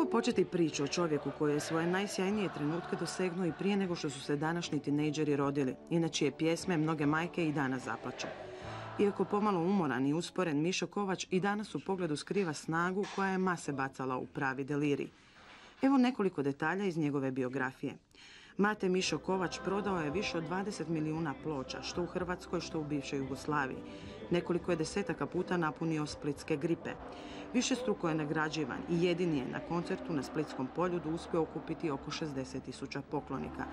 Kako početi priču o čovjeku koji je svoje najsjajnije trenutke dosegnuo i prije nego što su se današnji tinejdžeri rodili, inače je pjesme mnoge majke i danas zaplaču. Iako pomalo umoran i usporen, Mišo Kovač i danas u pogledu skriva snagu koja je mase bacala u pravi delirij. Evo nekoliko detalja iz njegove biografije. Mate Mišo Kovač prodao je više od 20 milijuna ploča, što u Hrvatskoj, što u bivšoj Jugoslaviji. Nekoliko je desetaka puta napunio splitske gripe. Višestruko je nagrađivan i jedini je na koncertu na Splitskom poljudu uspio okupiti oko 60.000 poklonika.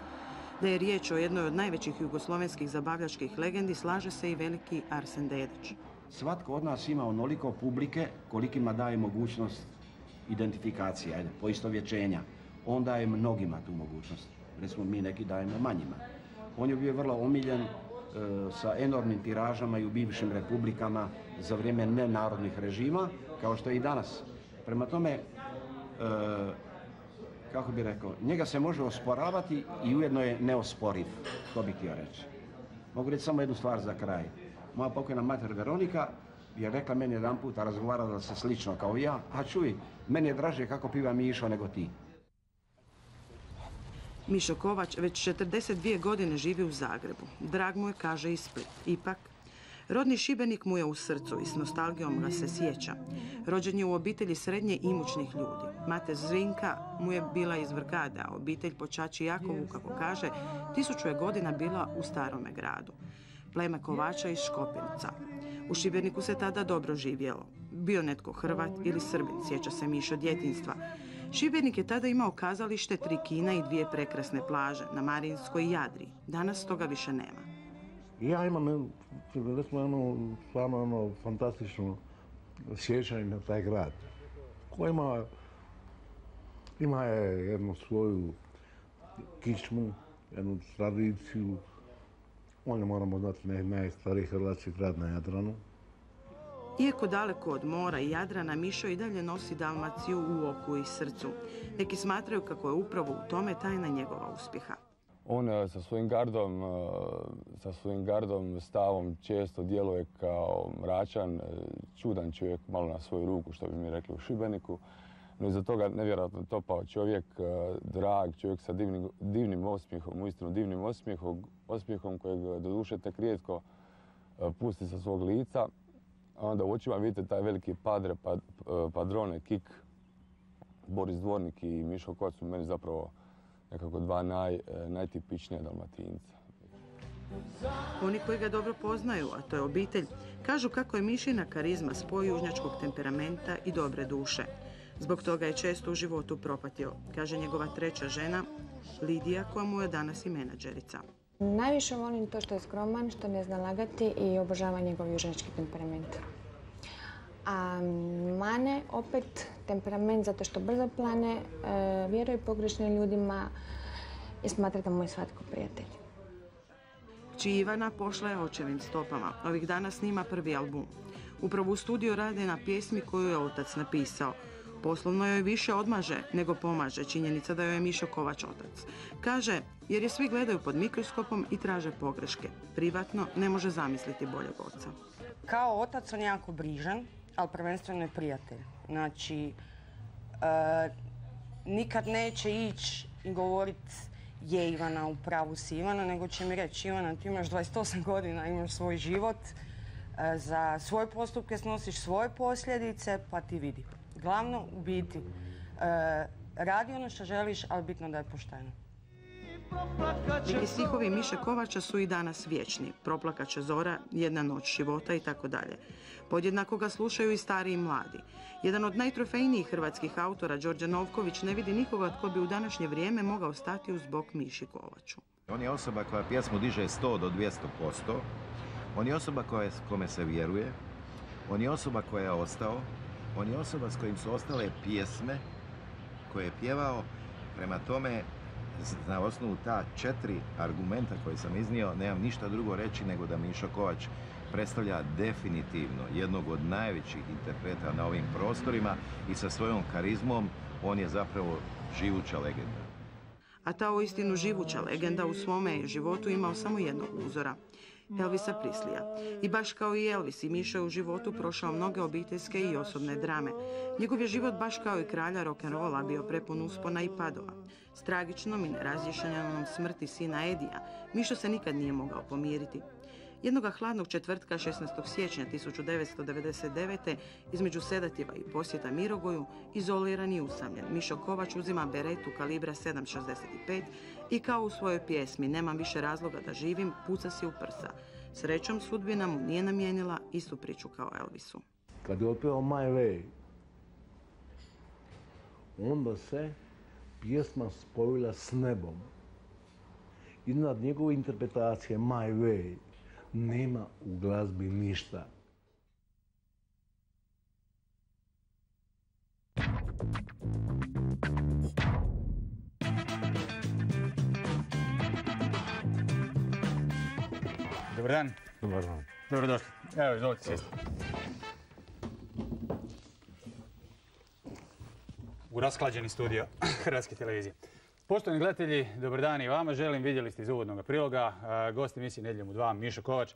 Da je riječ o jednoj od najvećih jugoslovenskih zabavljačkih legendi, slaže se i veliki Arsen Dedić. Svatko od nas ima onoliko publike kolikima daje mogućnost identifikacije, poistovjećenja. On daje mnogima tu mogućnost. Recimo mi neki dajemo manjima. On je bio vrlo omiljen sa enormnim tiražama i u bivšim republikama za vrijeme nenarodnih režima, kao što je i danas. Prema tome, kako bi rekao, njega se može osporavati i ujedno je neosporiv, to bih htio reći. Mogu reći samo jednu stvar za kraj. Moja pokojna mater Veronika je rekla meni jedan puta, razgovarala se slično kao ja, a čuj, meni je draže kako piva Mišo nego ti. Mišo Kovač već 42 godine živi u Zagrebu. Drag mu je, kaže, i Split. Ipak, rodni Šibenik mu je u srcu i s nostalgijom ga se sjeća. Rođen je u obitelji srednje imućnih ljudi. Mate Zrinka mu je bila iz Vrgade, a obitelj po ćaći Jakovu, kako kaže, 1000 je godina bila u Starome gradu. Pleme Kovača iz Škopinca. U Šibeniku se tada dobro živjelo. Bio netko Hrvat ili Srbin, sjeća se Mišo djetinjstva. Šibenik je tada imao kazalište, 3 kina i 2 prekrasne plaže na Marinskoj i Jadri. Danas toga više nema. Ja imam stvarno fantastično sjećanje na taj grad, koji ima jednu svoju kičmu, jednu tradiciju. On je, moramo znati, najstariji hrvatski grad na Jadranu. Iako daleko od mora i Jadrana, Mišo i dalje nosi Dalmaciju u oku i srcu. Neki smatraju kako je upravo u tome tajna njegova uspjeha. On sa svojim gardom, stavom često djeluje kao mračan, čudan čovjek, malo na svoju ruku, što bi mi rekli u Šibeniku. No iza toga nevjerojatno topao čovjek, drag čovjek sa divnim osmijehom, uistinu divnim osmijehom kojeg doduše tek rijetko pusti sa svog lica. A onda u očima vidite taj veliki padrone, Kik, Boris Dvornik i Mišo Kovač su meni zapravo nekako dva najtipičnija Dalmatinca. Oni koji ga dobro poznaju, a to je obitelj, kažu kako je Mišina karizma spoj južnjačkog temperamenta i dobre duše. Zbog toga je često u životu propatio, kaže njegova 3. žena, Lidija, koja mu je danas i menadžerica. Najviše volim to što je skroman, što ne zna lagati i obožava njegov južnjački temperament. A mane, opet, temperament zato što brzo plane, vjeruje pogrešnim ljudima i smatra da mu je svatko prijatelj. Kći Ivana pošla je očevim stopama. Ovih dana snima prvi album. Upravo u studiju rade na pjesmi koju je otac napisao. Poslovno joj više odmaže nego pomaže činjenica da joj je Mišo Kovač otac. Kaže, jer je svi gledaju pod mikroskopom i traže pogreške. Privatno ne može zamisliti boljeg oca. Kao otac on je jako brižan, ali prvenstveno je prijatelj. Znači, nikad neće ići i govoriti je Ivana, u pravu si Ivana, nego će mi reći Ivana, ti imaš 28 godina, imaš svoj život, za svoje postupke snosiš svoje posljedice, pa ti vidi. Glavno, u biti, radi ono što želiš, ali bitno da je pošteno. Neki stihovi Miše Kovača su i danas vječni. Proplakat će zora, jedna noć života i tako dalje. Podjednako ga slušaju i stari i mladi. Jedan od najtrofejnijih hrvatskih autora, Đorđe Novković, ne vidi nikoga tko bi u današnje vrijeme mogao stati uz bok Miši Kovaču. On je osoba koja pjesmu diže 100 do 200%. On je osoba kome se vjeruje. On je osoba koja je ostao. On je osoba s kojim su ostale pjesme koje je pjevao. Prema tome, na osnovu ta 4 argumenta koje sam iznio, nemam ništa drugo reći nego da Mišo Kovač predstavlja definitivno jednog od najvećih interpreta na ovim prostorima i sa svojom karizmom on je zapravo živuća legenda. A ta uistinu živuća legenda u svome je životu imao samo jednog uzora. Elvisa Prislija. I baš kao i Elvis, i Mišo je u životu prošao mnoge obiteljske i osobne drame. Njegov je život, baš kao i kralja rock'n'rolla, bio prepun uspona i padova. S tragičnom i nerazješenjenom smrti sina Edija, Mišo se nikad nije mogao pomiriti. Jednoga hladnog četvrtka 16. siječnja 1999. između sedativa i posjeta Mirogoju, izoliran i usamljen, Mišo Kovač uzima beretu kalibra 7,65 i kao u svojoj pjesmi "Nemam više razloga da živim" puca si u prsa. Srećom, sudbina mu nije namijenila istu priču kao Elvisu. Kad je otpeo My Way, onda se pjesma spojila s nebom. Iznad njegove interpretacije My Way nema u glazbi ništa. Dobar dan. Dobar dan. Dobrodošli. Evo, izvolite sjesti. U rasklađeni studio Hrvatske televizije. Poštovani gledatelji, dobar dan i vama. Vidjeli ste iz uvodnog priloga, gost emisije Nedjeljom u 2, Mišo Kovač.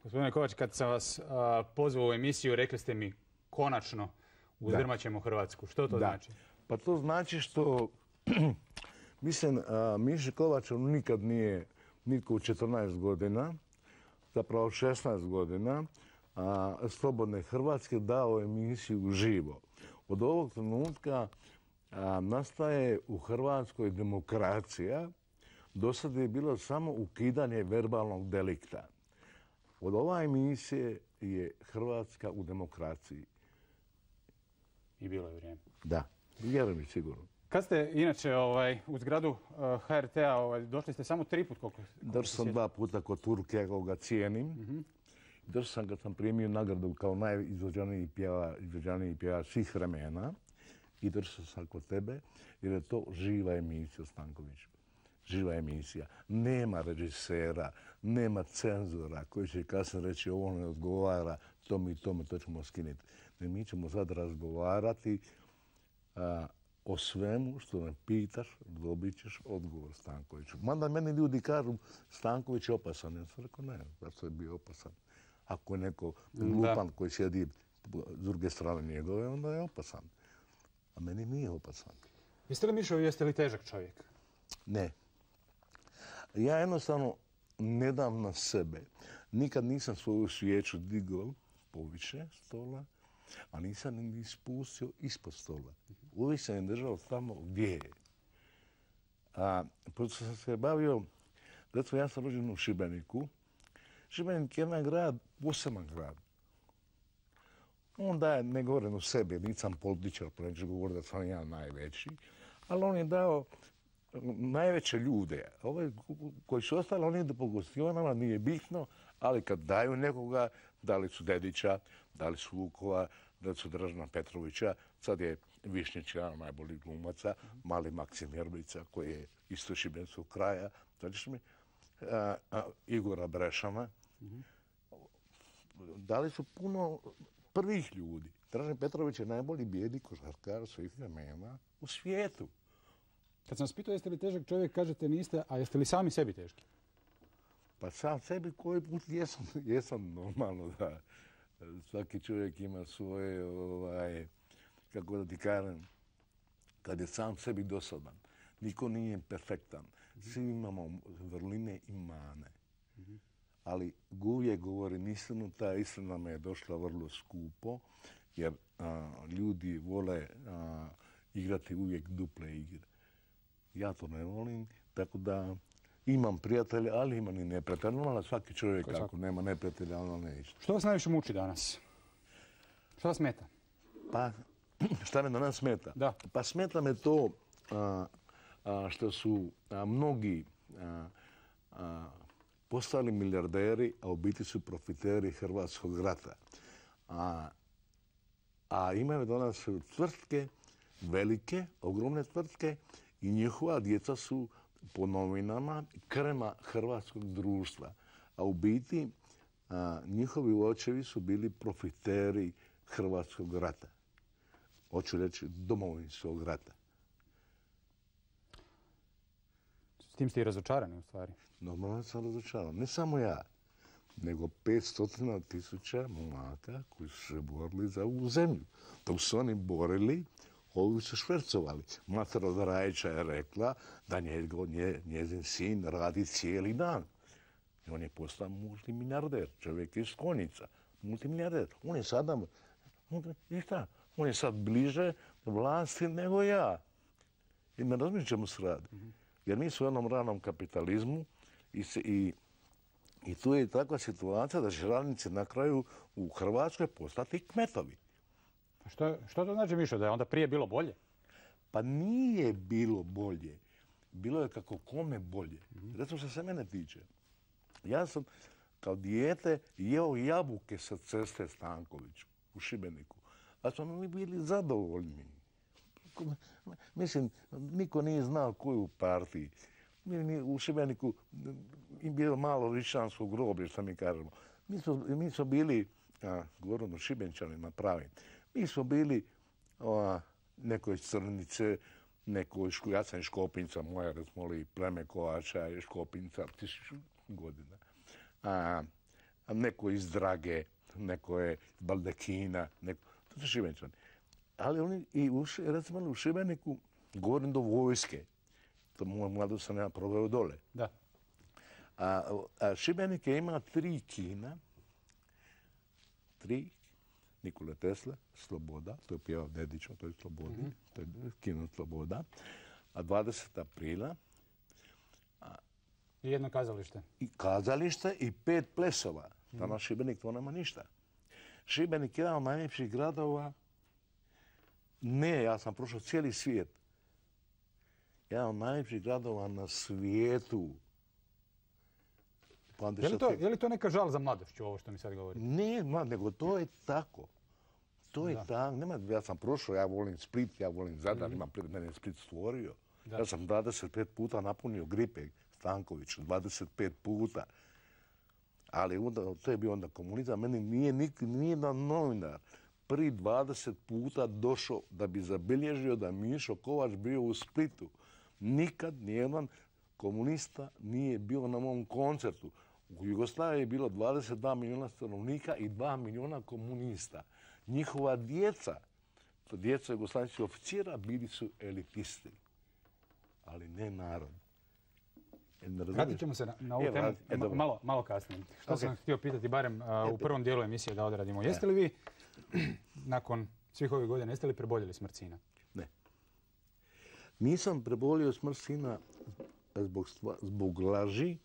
Gospodine Kovač, kad sam vas pozvao u emisiju, rekli ste mi konačno uzdrmat ćemo Hrvatsku. Što to znači? Pa to znači što, mislim, Mišo Kovač nikad nije, nitko u 14 godina, zapravo 16 godina, Slobodne Hrvatske dao emisiju uživo. Od ovog trenutka nastaje u Hrvatskoj demokracija. Do sada je bilo samo ukidanje verbalnog delikta. Od ove emisije je Hrvatska u demokraciji. I bilo je vrijeme. Da, vjerujem mi sigurno. Kad ste inače u zgradu HRT-a, došli ste samo 3 put koliko Došao sam 2 puta kod Turke, ja ga cijenim. Došao sam kad sam primio nagradu kao najizvođaniji pjevač svih vremena. I došao sam kod tebe jer je to živa emisija, Stanković. Živa emisija. Nema režisera, nema cenzora koji će kasnije reći ovo ne odgovara, to ćemo skinuti. Mi ćemo sad razgovarati o svemu što me pitaš, dobit ćeš odgovor Stankoviću. Mada meni ljudi kažu Stanković je opasan. Ja sam rekao ne, zašto je bio opasan. Ako je neko lupan koji sjedi s druge strane njegove, onda je opasan. A meni nije opasan. Jeste li, Mišo, jeste li težak čovjek? Ne. Ja jednostavno ne dam na sebe. Nikad nisam svoju svijeću digao poviše stola, a nisam ni spustio ispod stola. Uvijek sam je držao tamo gdje je. Pošto sam se bavio, recimo ja sam rođen u Šibeniku. Šibenik je jedan grad, poseban grad. On daje, ne govorim o sebi, nisam političar, pa neću govoriti da sam ja najveći, ali on je dao najveće ljude. Ove koji su ostali, oni idu po gostionama, nije bitno, ali kad daju nekoga, dali su Dedića, dali su Vukova, dali su Dražena Petrovića, sad je Višnjić, jedan najbolji glumaca, mali Maksim Jerblica, koji je isto šibenskog kraja, znači mi, Igora Brešana. Dali su puno prvih ljudi. Dražen Petrović je najbolji bijedi košarkar svih vremena u svijetu. Kad sam vas pitao jeste li težak čovjek, kažete niste, a jeste li sami sebi teški? Pa sam sebi koji put jesam normalno da svaki čovjek ima svoje, kako da ti kažem, kad je sam sebi dosadan. Niko nije perfektan. Svi imamo vrline i mane. Ali uvijek govorim istinu, ta istina me je došla vrlo skupo, jer ljudi vole igrati uvijek duple igre. Ja to ne volim, tako da imam prijatelje, ali imam i neprijatelje. Normalno svaki čovjek ako nema neprijatelja, ono neće. Što vas najviše muči danas? Što vas smeta? Pa, šta me danas smeta? Da. Pa smeta me to što su mnogi postali milijarderi, a u biti su profiteri Hrvatskog rata. A imaju danas tvrtke, velike, ogromne tvrtke i njihova djeca su po novinama krema hrvatskog društva. A u biti njihovi očevi su bili profiteri Hrvatskog rata. Hoću reći Domovinskog rata. S tim ste i razočarani u stvari. Normalno sam razočaran. Ne samo ja, nego 500.000 momaka koji su se borili za ovu zemlju. Dok su oni borili, ovi su švercovali. Mater od Rajića je rekla da njezin sin radi cijeli dan. I on je postao multimilijarder, čovjek iz Konjica. Multimilijarder. On je sada, on je sad bliže vlasti nego ja. I ne razumijem čemu se radi. Jer mi smo u jednom ranom kapitalizmu i tu je takva situacija da će radnici na kraju u Hrvatskoj postati kmetovi. Što to znači, Mišo, da je onda prije bilo bolje? Pa nije bilo bolje. Bilo je kako kome bolje. Recimo što se mene tiče. Ja sam kao dijete jeo jabuke sa ceste Stankoviću u Šibeniku. A smo mi bili zadovoljni. Mislim, niko nije znao koju u partiji. U Šibeniku je bilo malo rišansko groblje, što mi kažemo. Mi smo bili, govorim o Šibenčanima pravim, mi smo bili neko iz Crnice, neko iz ja sam iz Škopinca, moja recimo pleme Kovača je Škopinca 1000 godina. Neko iz Drage, neko je iz Baldekina, to su Šibenčani. Ali oni i recimo u Šibeniku, govorim do vojske, to moju mladost sam ja proveo dole. Da. Šibenik je ima 3 kina, 3, Nikola Tesla, Sloboda, to je pjevao Dedić, to je Slobodi, to je kino Sloboda, a 20. aprila. I jedno kazalište. I kazalište i 5 plesova. Danas Šibenik to nema ništa. Šibenik je jedan od najljepših gradova. Ne, ja sam prošao cijeli svijet. Jedan od najljepših gradova na svijetu. Je li to neka žal za mladošću, ovo što mi sad govorite? Ne, nego to je tako. To je tako. Ja sam prošao, ja volim Split, ja volim Zadar, mene je Split stvorio. Ja sam 25 puta napunio Gripe Stanković, 25 puta. Ali to je bio onda komunizam. Meni nije nijedan novinar prvi 20 puta došao da bi zabilježio da Mišo Kovač bio u Splitu. Nikad nijedan komunista nije bio na mom koncertu. U Jugoslaviji je bilo 22 milijuna stanovnika i 2 milijuna komunista. Njihova djeca jugoslavenskih oficira, bili su elitisti, ali ne narod. Vratit ćemo se na ovu temu malo kasnije. Što sam htio pitati, barem u prvom dijelu emisije da odradimo. Jeste li vi, nakon svih ovih godina, jeste li preboljeli smrt sina? Ne. Nisam prebolio smrt sina zbog laži.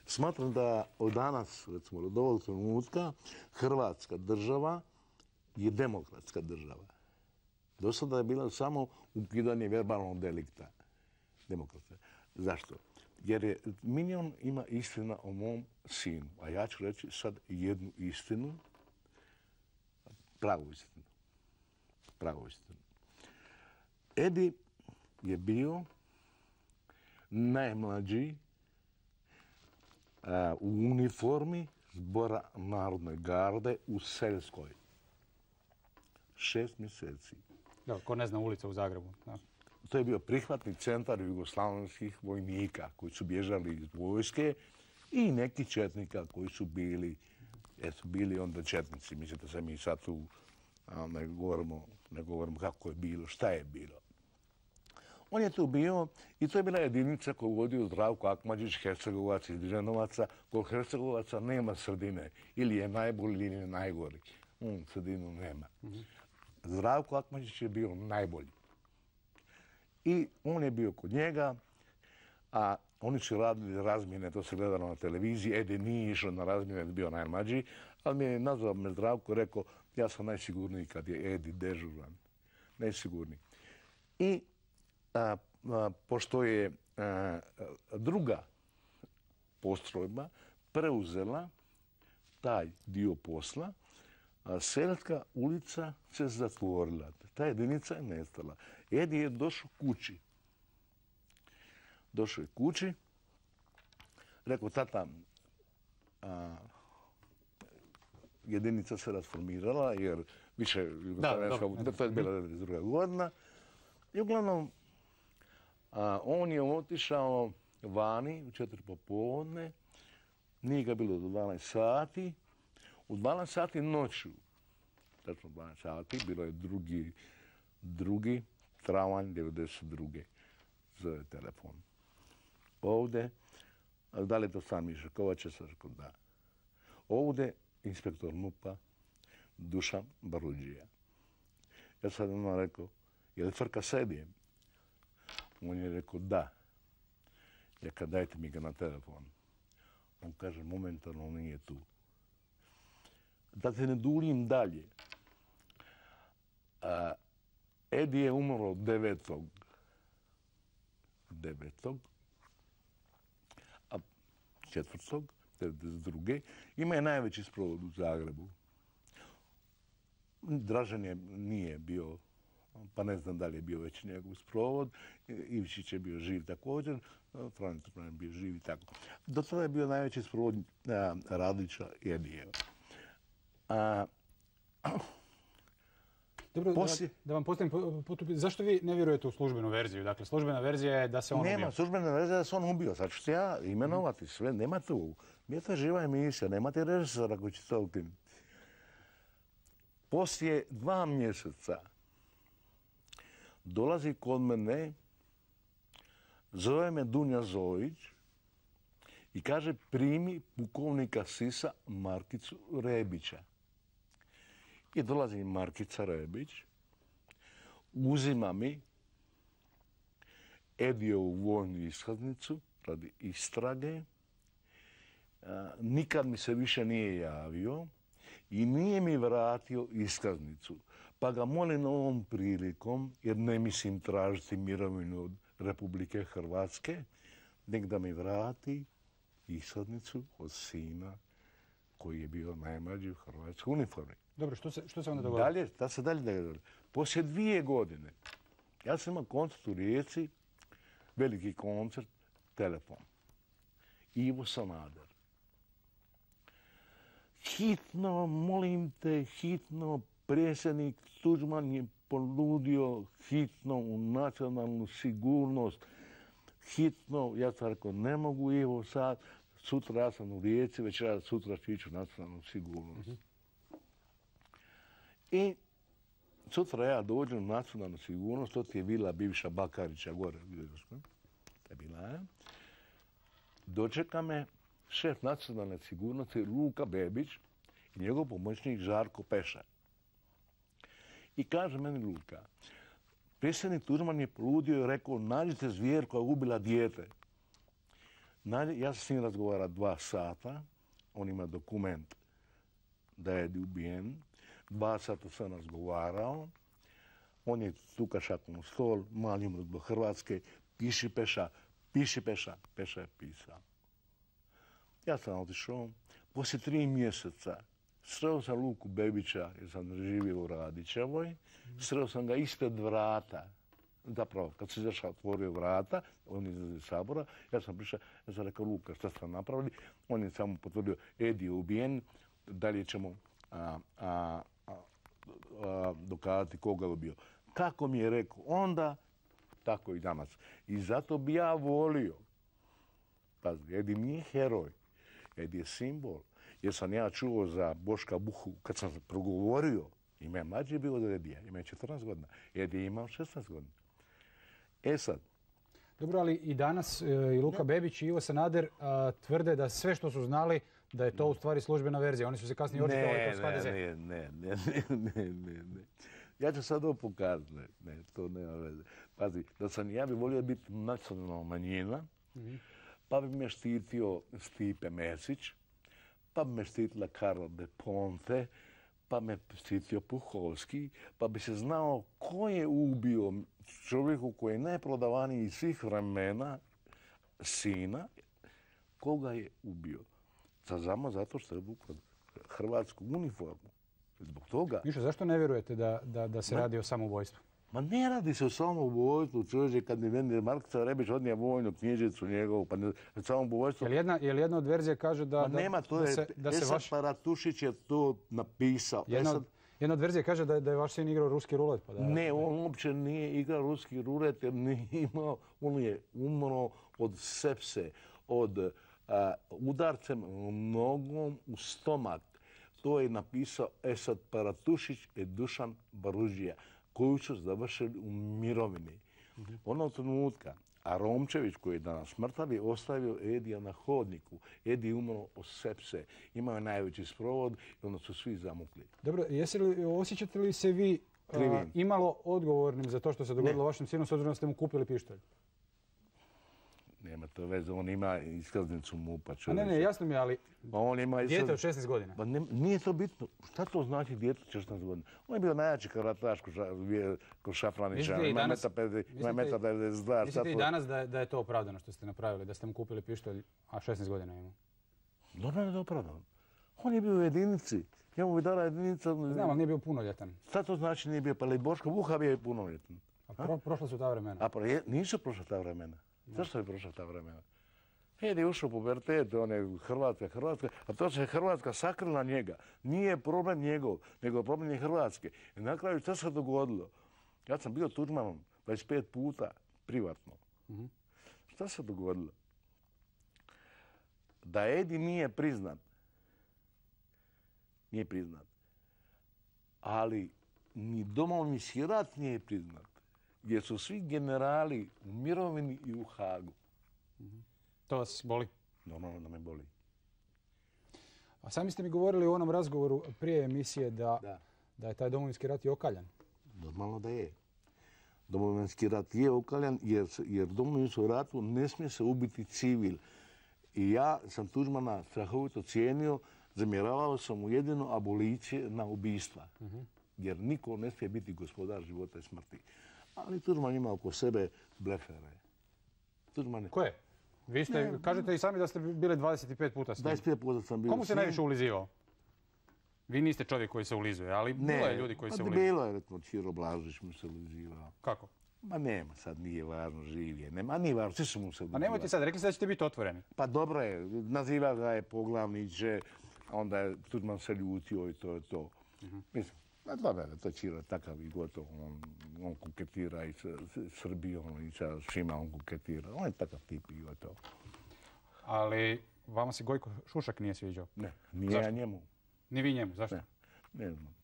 Smatram da od danas, recimo od ovog trenutka, Hrvatska država je demokratska država. Do sada je bila samo ukidanje verbalnog delikta. Demokratska. Zašto? Jer milion ima istina o mom sinu. A ja ću reći sad jednu istinu, pravu istinu. Pravu istinu. Edi je bio najmlađi u uniformi Zbora Narodne garde u Seljskoj. 6 mjeseci. Da, ko ne zna ulica u Zagrebu. Da. To je bio prihvatni centar jugoslavenskih vojnika koji su bježali iz vojske i neki četnika koji su bili onda četnici. Mislite se mi sad tu ne govorimo kako je bilo, šta je bilo. On je tu bio i to je bila jedinica koju vodio Zdravko Akmadžić, Hercegovac iz Dženovaca. Kod Hercegovaca nema sredine. Ili je najbolji ili je najgori. On sredinu nema. Zdravko Akmadžić je bio najbolji. I on je bio kod njega, a oni su radili razmjene, to se gledalo na televiziji. Edi nije išao na razmjene, bio najmlađi, ali mi je nazvao me Zdravko i rekao ja sam najsigurniji kad je Edi dežuran. Najsigurniji. I pošto je druga postrojba preuzela taj dio posla, Seljska ulica se zatvorila. Ta jedinica je nestala. Edi je došao kući. Došao je kući. Rekao, tata, jedinica se rasformirala jer više to je bila 92. godina. I uglavnom, on je otišao vani u 4 popodne. Nije ga bilo do 12 sati. U 12 sati noću, tačno 12 sati, bilo je drugi travanj 92. Zove telefon. Ovdje, da li je to sam Miša Kovač, ja sam rekao da. Ovdje inspektor MUP-a Dušan Barudžija. Ja sam odmah rekao, je li Frka Sedijem? On je rekao da. Ja kad dajte mi ga na telefon. On kaže, momentalno on nije tu. Da se ne duljim dalje. Edi je umro 9. A 4. 92. Ima je najveći sprovod u Zagrebu. Dražen nije bio, pa ne znam da li je bio već njegov sprovod. Ivčić je bio živ također, Franjo Tuđman je bio živ i tako. Do tada je bio najveći sprovod Radića i Edijeva. Dobro, da vam postavim, zašto vi ne vjerujete u službenu verziju? Dakle, službena verzija je da se on ubio. Nema, službena verzija je da se on ubio. Sad ću se ja imenovati sve, nema tu. Nije to živa emisija, nemate režisora koji će to ukinuti. Poslije 2 mjeseca dolazi kod mene, zove me Dunja Zojić i kaže primi pukovnika Sisa Markicu Rebića. I dolazi Markica Rebić, uzima mi Edijevu vojnu iskaznicu radi istrage. Nikad mi se više nije javio i nije mi vratio iskaznicu. Pa ga molim ovom prilikom, jer ne mislim tražiti mirovinu od Republike Hrvatske, nek da mi vrati iskaznicu od sina koji je bio najmlađi u hrvatskoj uniformi. Dobro, što se onda dogodilo? Da se dalje dogodilo. Poslije 2 godine, ja sam imao koncert u Rijeci, veliki koncert, telefon. Ivo Sanader. Hitno, molim te, hitno, predsjednik Tuđman je ponudio hitno u nacionalnu sigurnost. Hitno, ja sam rekao, ne mogu Ivo sad, sutra ja sam u Rijeci, večera sutra ću ići u nacionalnu sigurnost. I sutra ja dođem u nacionalnu sigurnost, to ti je vila bivša Bakarića gore. To je bila, dočeka me šef nacionalne sigurnosti Luka Bebić i njegov pomoćnik Žarko Pešar. I kaže meni Luka, predsjednik Tuđman je poludio i rekao, nađite zvijer koja je ubila dijete. Ja sam s njim razgovarao 2 sata, on ima dokument da je ubijen. 2 sata sam razgovarao, on je tuka šakom u stol, mali umro do Hrvatske, piši Peša, Peša je pisao. Ja sam otišao, poslije 3 mjeseca sreo sam Luku Bebića, jer sam živio u Radićevoj, sreo sam ga ispred vrata. Zapravo, kad se izašao, otvorio vrata, on izlazi iz Sabora, ja sam prišao, ja sam rekao, Luka, šta ste napravili? On je samo potvrdio, Edi je ubijen, dalje ćemo dokazati koga je ubio. Kako mi je rekao onda, tako i danas. I zato bi ja volio, pazi, Edi nije heroj, Edi je simbol. Jer sam ja čuo za Boška Buhu, kad sam progovorio, ima je mlađi bio od Edija, ima je 14 godina. Edi je imao 16 godina. E sad. Dobro, ali i danas i Luka Bebić i Ivo Sanader tvrde da sve što su znali, da je to u stvari službena verzija. Oni su se kasnije očitovali kroz HDZ. Ne. Ja ću sad ovo pokazati. Ne, to nema veze. Pazi, ja bi volio biti nacionalna manjina, pa bi me štitio Stipe Mesić, pa bi me štitila Karla de Ponte, pa me štitio Puhovski, pa bi se znao ko je ubio čovjeku koji je najprodavaniji iz svih vremena, sina, koga je ubio. Samo zato što je obukao hrvatsku uniformu. Zbog toga... Mišo, zašto ne vjerujete da se radi o samoubojstvu? Ma ne radi se o samoubojstvu, čovječe, kad mi meni Markica Rebić odnije vojnu knjižicu njegovu, pa samoubojstvo... Je li jedna od verzija kaže da... Ma nema, to je... Esad Paratušić je to napisao. Jedna od verzija kaže da je vaš sin igrao ruski rulet. Pa ne, on uopće nije igrao ruski rulet jer nije imao... On je umro od od sepse, od udarcem nogom u stomak. To je napisao Esad Paratušić i Dušan Baružija, koju su završili u mirovini. Onog trenutka, a Romčević, koji je danas mrtav, je ostavio Edija na hodniku. Edi je umro od sepse, imao je najveći sprovod i onda su svi zamukli. Dobro, osjećate li se vi imalo odgovornim za to što se dogodilo vašem sinu, s obzirom da ste mu kupili pištolj? Nema to veze, on ima iskaznicu MUP-a. Ne, jasno mi je, ali dijete od 16 godina. Pa nije to bitno. Šta to znači dijete od 16 godina? On je bio najjači karataš kod Šafranića. Ima meta 92. Mislite i danas da je to opravdano što ste napravili, da ste mu kupili pištolj, a 16 godina ima? Normalno je da je opravdano. On je bio u jedinici. Ja mu bi dala jedinica... Znam, ali nije bio punoljetan. Šta to znači nije bio? Pa li Boško Vuha bio je punoljetan. Prošla su ta vremena. Nisu prošla ta vremena. Zašto je prošla ta vremena? Edi je ušao u pubertet, on je Hrvatska, a to se Hrvatska sakrila njega. Nije problem njegov, nego problem je Hrvatske. I na kraju šta se dogodilo? Ja sam bio Tuđmanom 25 puta, privatno. Šta se dogodilo? Da Edi nije priznat, ali ni Domovinski rat nije priznat, gdje su svi generali u mirovini i u Hagu. To vas boli? Normalno da me boli. A sami ste mi govorili u onom razgovoru prije emisije da je taj Domovinski rat i okaljan. Normalno da je. Domovinski rat je okaljan jer Domovinskom ratu ne smije se ubiti civil. I ja sam Tuđmana strahovito cijenio, zamjeravao sam mu jedino abolicije na ubistva. Jer niko ne smije biti gospodar života i smrti. Ali Tuđman ima oko sebe blefere. Koje? Vi ste, kažete i sami da ste bili 25 puta s njim. 25 puta sam bio. Komu se najviše ulizivao? Vi niste čovjek koji se ulizuje, ali bilo je ljudi koji se ulizuje. Bilo je, recimo, Ćiro Blažić mu se ulizivao. Kako? Ma nema, sad nije važno, živ je. Nema, nije važno, svi su mu se ulizivali. A nemojte sad, rekli ste da ćete biti otvoreni. Pa dobro je, naziva ga je poglavniče, onda je Tuđman se ljutio i to je to. Mislim, dobro je, to Ćiro je takav i gotovo. On kuketira i sa Srbijom i sa svima on kuketira. On je takav tip i gotovo. Ali vama se Gojko Šušak nije sviđao? Ne, nije ja njemu. Ni vi njemu, zašto? Ne znam.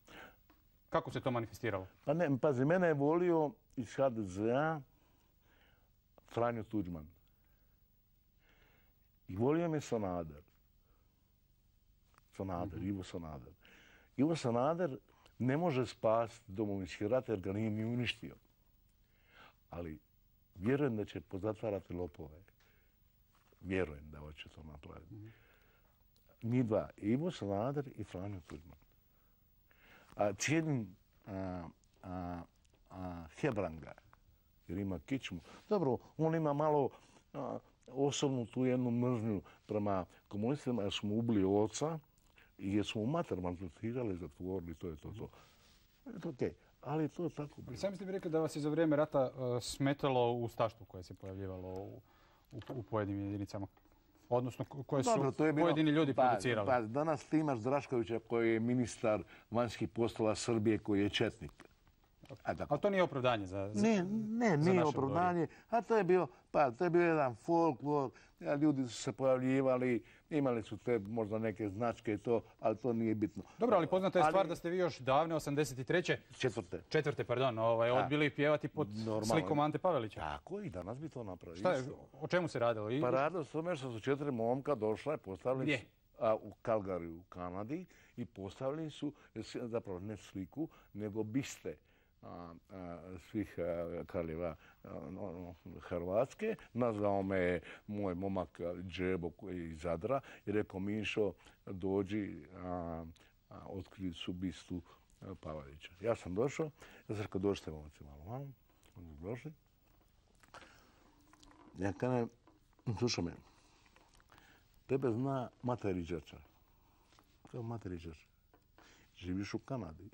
Kako se to manifestiralo? Pa ne, pazi, mene je volio iz HDZ-a Franjo Tuđman. I volio me Sanader. Ivo Sanader. Ivo Sanader ne može spasiti Domovinski rat jer ga nije ni uništio. Ali vjerujem da će pozatvarati lopove. Vjerujem da hoće to napraviti. Mi dva, Ivo Sanader i Franjo Tuđman. Cijenim Hebranga, jer ima kičmu. Dobro, on ima malo osobnu tu jednu mržnju prema komunistima jer smo ubili oca i jer smo u mater maltretirali, zatvorili, to je to. To okej, ali to je tako. Sami ste mi rekli da vas je za vrijeme rata smetalo ustaštvo koje se pojavljivalo u pojedinim jedinicama. Odnosno koje su pojedini ljudi producirali. Pa danas ti imaš Draškovića koji je ministar vanjskih poslova Srbije koji je četnik. Ali to nije opravdanje za nije opravdanje. A to je bio jedan folklor. Ljudi su se pojavljivali, imali su te možda neke značke i to, ali to nije bitno. Dobro, ali poznata je stvar da ste vi još davne 83. Četvrte, odbili pjevati pod slikom Ante Pavelića. Tako, i danas bi to napravili. Šta je, o čemu se radilo? Pa radilo se tome što su 4 momka došla i postavili u Calgaryu u Kanadi i postavili su, zapravo ne sliku, nego biste svih kraljeva Hrvatske. Nazvao me moj momak Džebo koji je iz Zadra i rekao Mišo dođi, otkrili su bistu Pavelića. Ja sam došao, ja sam rekao dođite momci malo. Oni su došli. Ja kažem, slušaj me, tebe zna Mate Riđača. Kao Mate Riđača. Živiš u Kanadi.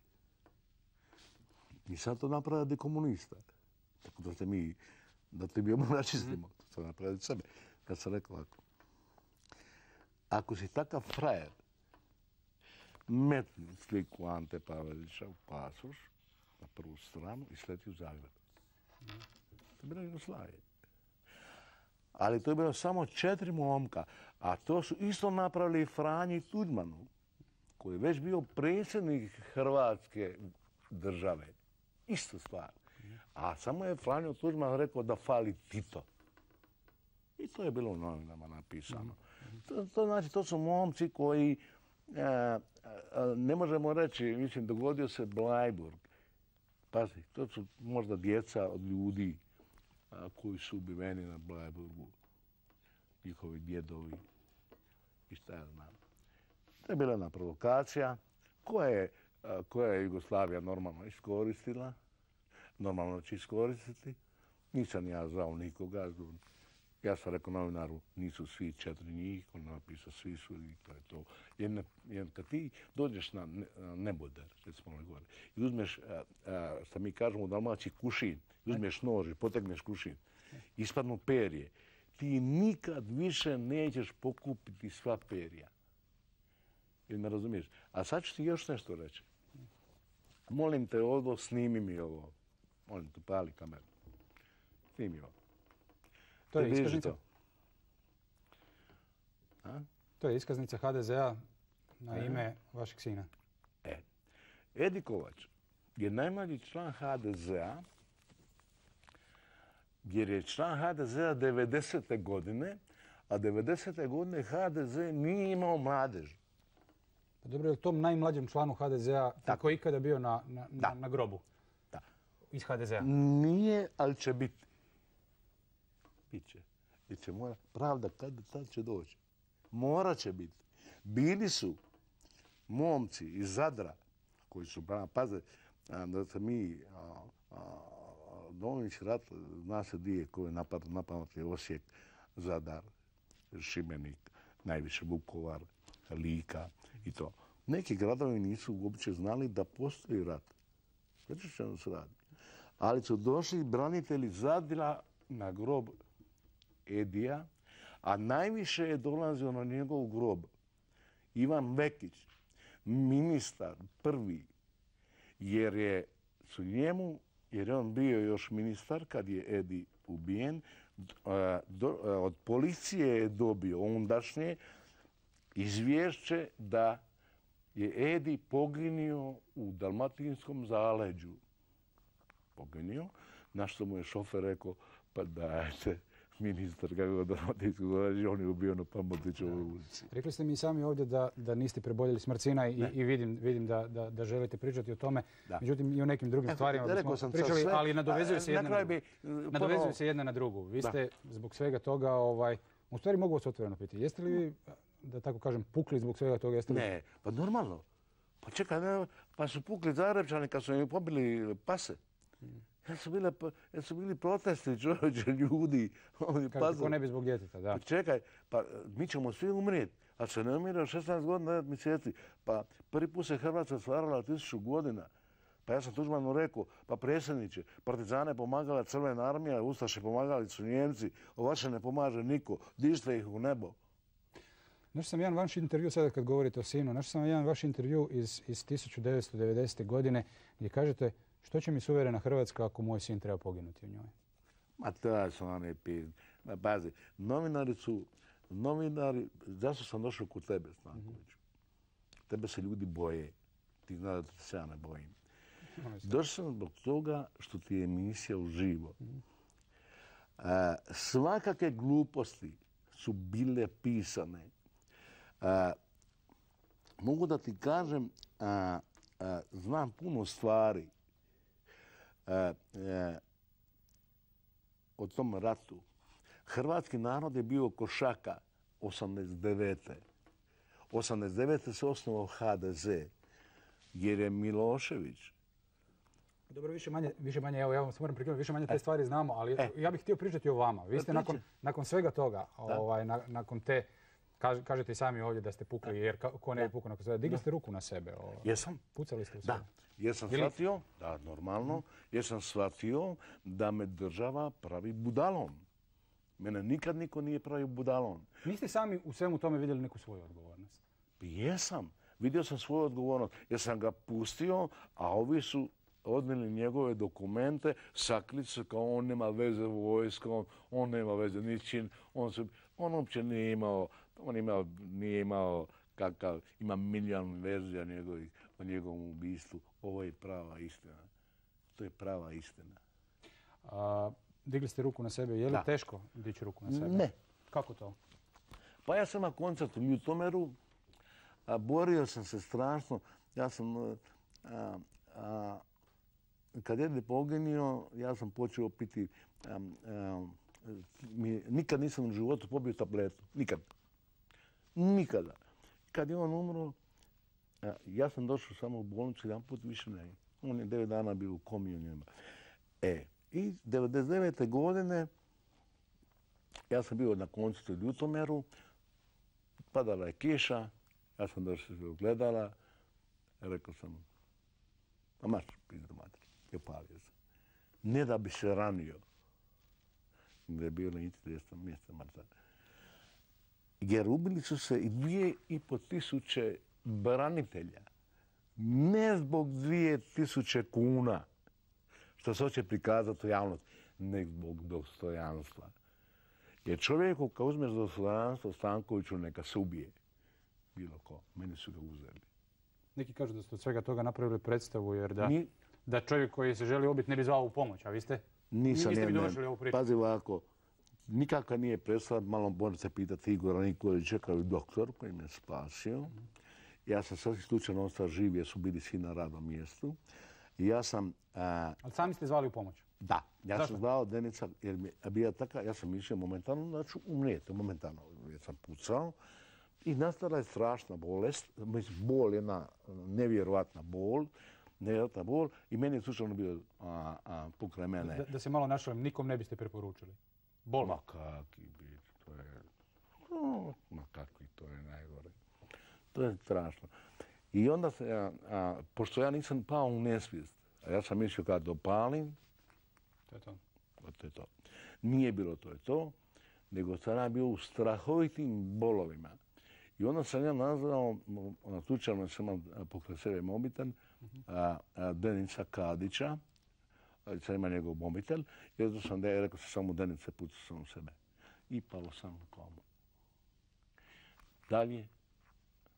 I sad to napraviti komunista. Tako da te mi raščistimo. To napraviti sebe. Kad sam rekao ovako. Ako si takav frajer, metni sliku Ante Pavelića u pasoš na prvu stranu i sleti u Zagreb. To je bila Jugoslavija. Ali to je bilo samo 4 momka. A to su isto napravili Franji Tuđmanu, koji je već bio predsjednik Hrvatske države. Isto stvar. A samo je Franjo Tuđman rekao da fali Tito. I to je bilo u novinama napisano. To znači, to su momci koji, ne možemo reći, mislim, dogodio se Bleiburg. Pazi, to su možda djeca od ljudi koji su ubiveni na Bleiburgu. Njihovi djedovi i šta ja znam. To je bila jedna provokacija koja je Jugoslavija normalno iskoristila. Normalno će iskoristiti. Nisam ja zvao nikoga. Ja sam rekao novinaru, nisu svi 4 njih, on napisao svi su i to je to. Jer kad ti dođeš na neboder, recimo na gore, i uzmeš, što mi kažemo u Dalmaciji, kušin, uzmeš nož i potegneš kušin, ispadnu perje, ti nikad više nećeš pokupiti sva perja. Ili me razumiješ? A sad ću ti još nešto reći. Molim te ovo, snimi mi ovo. Molim te, pali kameru. Snimi ovo. To je iskaznica? To je iskaznica HDZ-a na ime vašeg sina. Edi Kovač je najmlađi član HDZ-a, jer je član HDZ-a 90. godine, a 90. godine HDZ nije imao mladež. Pa dobro, je li tom najmlađem članu HDZ-a tako ikada bio na grobu? Da. Iz HDZ-a? Nije, ali će biti. Biće. Jer će mora, pravda kad će doći. Morat će biti. Bili su momci iz Zadra, koji su, paze, da se mi, Domovinski rat, zna se di je koji je napadat je Osijek, Zadar, Šibenik, najviše Vukovar, Lika i to. Neki gradovi nisu uopće znali da postoji rat. Znači što se radi. Ali su došli branitelji Zadra na grob Edija, a najviše je dolazio na njegov grob Ivan Vekić, ministar prvi, jer je on bio još ministar kad je Edi ubijen, od policije je dobio ondašnje izvješće da je Edi poginio u Dalmatinskom zaleđu. Poginio, na što mu je šofer rekao, pa dajte, ministar kako Dalmatinskog zaleđa, on je ubio na Pamotićevoj ulici. Rekli ste mi sami ovdje da niste preboljeli smrt sina i vidim da želite pričati o tome. Međutim, i o nekim drugim stvarima bismo pričali, ali nadovezuju se jedna na drugu. Vi ste zbog svega toga, u stvari mogu vas otvoreno pitati, jeste li vi, da tako kažem, pukli zbog svega toga? Ne, pa normalno. Pa čekaj, pa su pukli Zagrepčani kad su im pobili pase. Jer su bili protesti čovječe ljudi. Kako ne bi zbog djeteta, da. Čekaj, pa mi ćemo svi umrijeti. A se ne umire od 16 godina, 9 mjeseci. Pa prvi put se Hrvatska stvarala 1000 godina. Pa ja sam Tuđmanu rekao, pa predsjedniče, partizane pomagala Crvena armija, ustaše pomagali su Njemci, vaše ne pomaže niko, dižite ih u nebo. Našao sam jedan vaš intervju, sada kad govorite o sinu, našao sam jedan vaš intervju iz 1990. godine gdje kažete što će mi suverena Hrvatska ako moj sin treba poginuti u njoj? Ma to su one pizde. Pazi, novinari, zašto sam došao kod tebe, Stanković? Tebe se ljudi boje. Ti znaš da se ja ne bojim. Došao sam zbog toga što ti je emisija uživo. Svakake gluposti su bile pisane. Mogu da ti kažem, znam puno stvari o tom ratu. Hrvatski narod je bio košaka 89. 89. se osnovao HDZ, jer je Milošević. Dobro, više manje, evo ja vam se moram prekinuti, više manje te stvari znamo, ali ja bih htio pričati o vama. Vi ste nakon svega toga, nakon te, kažete i sami ovdje da ste pukli, jer ko ne bi pukao nakon svega, digli ste ruku na sebe. Jesam. Pucali ste u sebe. Da. Jer sam shvatio, da, normalno, jer sam shvatio da me država pravi budalom. Mene nikad niko nije pravio budalom. Niste sami u svemu tome vidjeli neku svoju odgovornost? Jesam. Vidio sam svoju odgovornost jer sam ga pustio, a ovi su odnijeli njegove dokumente, sakrili se kao on nema veze vojskom, on nema veze ničim, on uopće nije imao, nije imao kakav, ima milijon verzija o njegovom ubistvu. Ovo je prava istina. To je prava istina. Digli ste ruku na sebe. Je li teško dići ruku na sebe? Ne. Kako to? Pa ja sam na koncertu u Ljutomeru, borio sam se strašno. Ja sam, kad je poginio, ja sam počeo piti, nikad nisam u životu popio tabletu. Nikad. Nikada. Kad je on umro, ja sam došao samo u bolnicu, jedan put više ne. On je 9 dana bio u komi u njima. I 99. godine ja sam bio na koncertu u Ljutomeru, padala je kiša, ja sam došao do gledala, rekao sam, a marš, pizdu mater, i opalio sam. Ne da bi se ranio, gdje je bilo niti 200 mjesta mrtva. Jer ubili su se i 2500 branitelja. Ne zbog 2000 kuna, što se hoće prikazati u javnosti, nego zbog dostojanstva. Jer čovjeku kad uzmeš dostojanstvo Stankoviću neka se ubije. Bilo ko. Meni su ga uzeli. Neki kažu da ste od svega toga napravili predstavu jer da čovjek koji se želi ubiti ne bi zvao u pomoć, a vi ste? Nisam mi dovršili ovu priču. Pazi ovako, nikakva nije predstava, malo možete pitati Igora Nikolića kao i doktor koji me spasio. Ja sam sasvim slučajno ostao živ jer su bili svi na radnom mjestu. I ja sam... Ali sami ste zvali u pomoć? Da, ja sam zvao Denica jer mi je bila taka, ja sam mislio momentalno da ću umrijeti, momentalno jer sam pucao. I nastala je strašna bolest, bol, jedna nevjerojatna bol, i meni je slučajno bio pokraj mene. Da se malo našalim, nikom ne biste preporučili? Bol? Ma kakvi bi, to je... Ma kakvi, to je najgore. To je strašno. I onda se, pošto ja nisam pao u nesvijest, a ja sam mislio kad dopalim, to je to. To je to. Nije bilo to je to, nego sam ja bio u strahovitim bolovima. I onda sam ja nazvao, slučajno sam imao pokraj sebe mobitel, Denica Kadića, sam ima njegov mobitel, i onda sam rekao sam samo Denice, pucao sam u sebe. I pao sam u komu.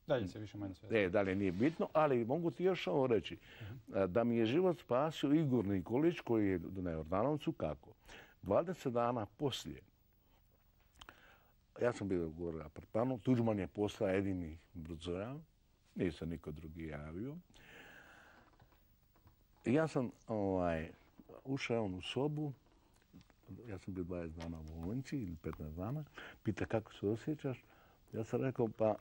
Dalje se više manje sve. Dalje nije bitno, ali mogu ti još ovo reći. Da mi je život spasio Igor Nikolić, koji je na Jordanovcu, kako? 20 dana poslije, ja sam bio gore na apartmanu, Tuđman je postao jedini brzoja, nije se niko drugi javio. I ja sam ušao u sobu, ja sam bio 20 dana u bolnici ili 15 dana, pita kako se osjećaš. Ja sam rekao, pa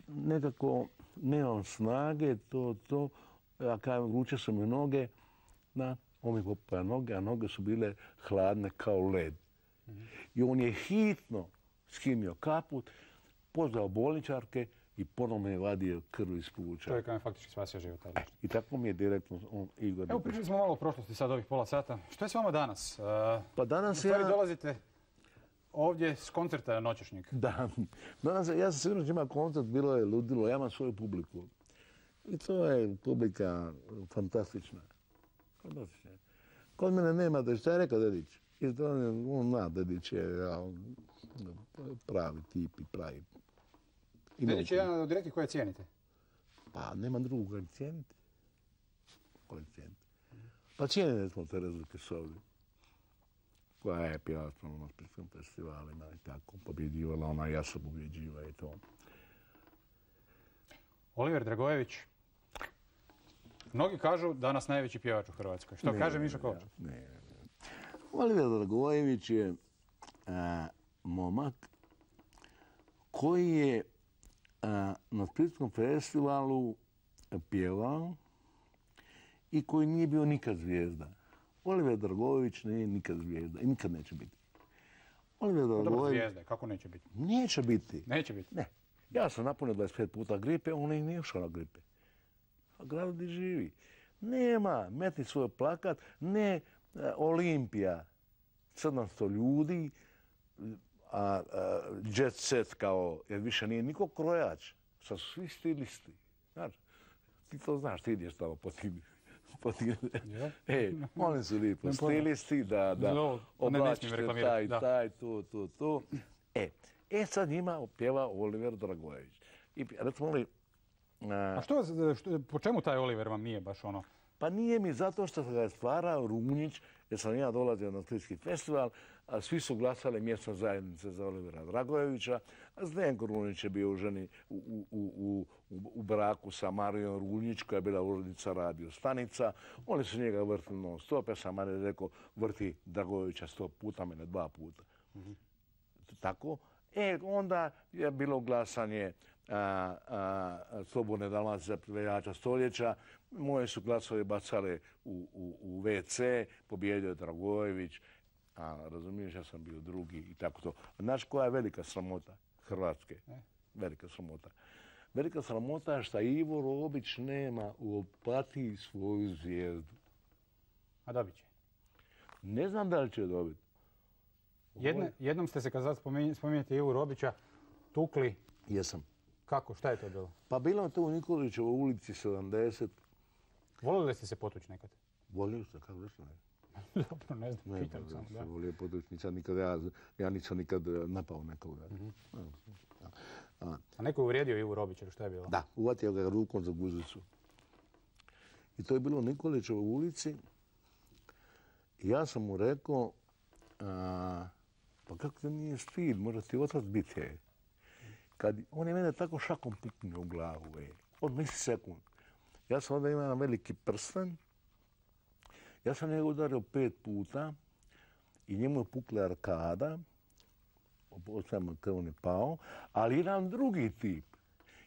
nekako nemam snage, ja kažem, vruće su mi noge, on mi popaja noge, a noge su bile hladne kao led. I on je hitno skinuo kaput, pozvao bolničarke i ponovno je vadio krv iz pluća. Čovjek vam je faktički spasio život. I tako mi je direktno Igor. Evo, pričali smo malo o prošlosti sad ovih pola sata. Što je s vama danas? Pa danas u stvari dolazite ovdje s koncerta noćešnjeg. Da. Danas, ja sam sigurno ima koncert, bilo je ludilo, ja imam svoju publiku. I to je publika fantastična. Kod mene nema da šta je rekao Dedić. I to on zna, Dedić je pravi tip i pravi. Dedić je jedan od rijetkih koje cijenite? Pa nema drugog koji cijenite. Pa cijenili smo Terezu Kesovlju, koja je pjevala na Splitskim festivalima i tako, pobjeđivala ona, ja sam pobjeđiva i to. Oliver Dragojević, mnogi kažu danas najveći pjevač u Hrvatskoj. Što kaže Mišo Kovač? Ne. Oliver Dragojević je momak koji je na Splitskom festivalu pjevao i koji nije bio nikad zvijezda. Oliver Dragojević nije nikad zvijezda i nikad neće biti. Oliver Dragojević... Zvijezda, kako neće biti? Neće biti. Neće biti? Ne. Ja sam napunio 25 puta gripe, on i nije ušao na gripe. A grad gdje živi. Nema, metni svoj plakat, ne Olimpija, 700 ljudi, a jet set kao, jer više nije niko krojač. Sad su svi stilisti. Znači, ti to znaš, ti ideš tamo po tim oni su lijepo stilisti, da oblačište taj, tu. Sad njima pjeva Oliver Dragojević. I recimo li... A po čemu taj Oliver vam nije baš ono? Pa nije mi zato što ga je stvarao Runjić, jer sam ja dolazio na Splitski festival, a svi su glasali mjesna zajednice za Olivera Dragojevića, a Zdenko Runjić je bio ženi u braku sa Marijom Runjić, koja je bila urednica radio stanica. Oni su njega vrtili non stop, ja sam Marija rekao, vrti Dragojevića 100 puta, mene 2 puta. Tako. Onda je bilo glasanje Slobodne Dalmacije za pjevača stoljeća. Moje su glasove bacale u WC, pobjedio je Dragojević, razumiješ, ja sam bio drugi i tako to. Znaš koja je velika sramota Hrvatske? Velika sramota. Velika sramota je što Ivo Robić nema u Opatiji svoju zvijezdu. A dobit će? Ne znam da li će dobiti. Jednom ste se, kad spominjete Ivu Robića, tukli. Jesam. Kako? Šta je to bilo? Pa bilo je to u Nikolićevoj ulici 70. Volili ste se potući nekad? Volio sam, kako nešto ne. Dobro, ne znam, pitam sam. Ne, volio potući, ja nisam nikad napao nekoga. A neko je uvrijedio Ivu Robića, ili šta je bilo? Da, uvatio ga rukom za guzicu. I to je bilo u Nikolićevoj ulici. I ja sam mu rekao, pa kako te nije stid, možda ti otac biti. On je mene tako šakom puknuo u glavu, od misli sekund. Ja sam onda imao jedan veliki prsten, ja sam njega udario 5 puta i njemu je pukla arkada, on je pao, ali jedan drugi tip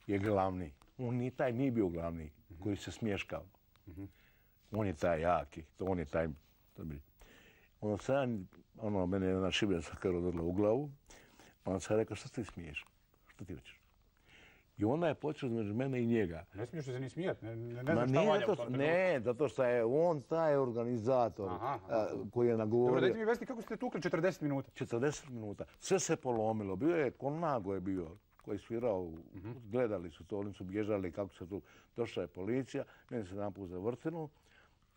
je glavni. Taj nije bio glavni, koji se smješkao. On je taj jaki, on je taj... Onda sam mene je jedna šibenska krv udarila u glavu, onda sam rekao, što ti smiješ? Što ti hoćeš? I onda je počeo između mene i njega. Ne smiješ se ni smijati, ne znam šta valja u tom trenutku. Ne, zato što je on taj organizator koji je nagovorio. Dobro, dajte mi vesti kako ste tukli 40 minuta. 40 minuta. Sve se polomilo. Bio je, Konago je bio, koji je svirao, gledali su to, oni su bježali kako se tu. Došla je policija, meni se jedan put zavrtilo.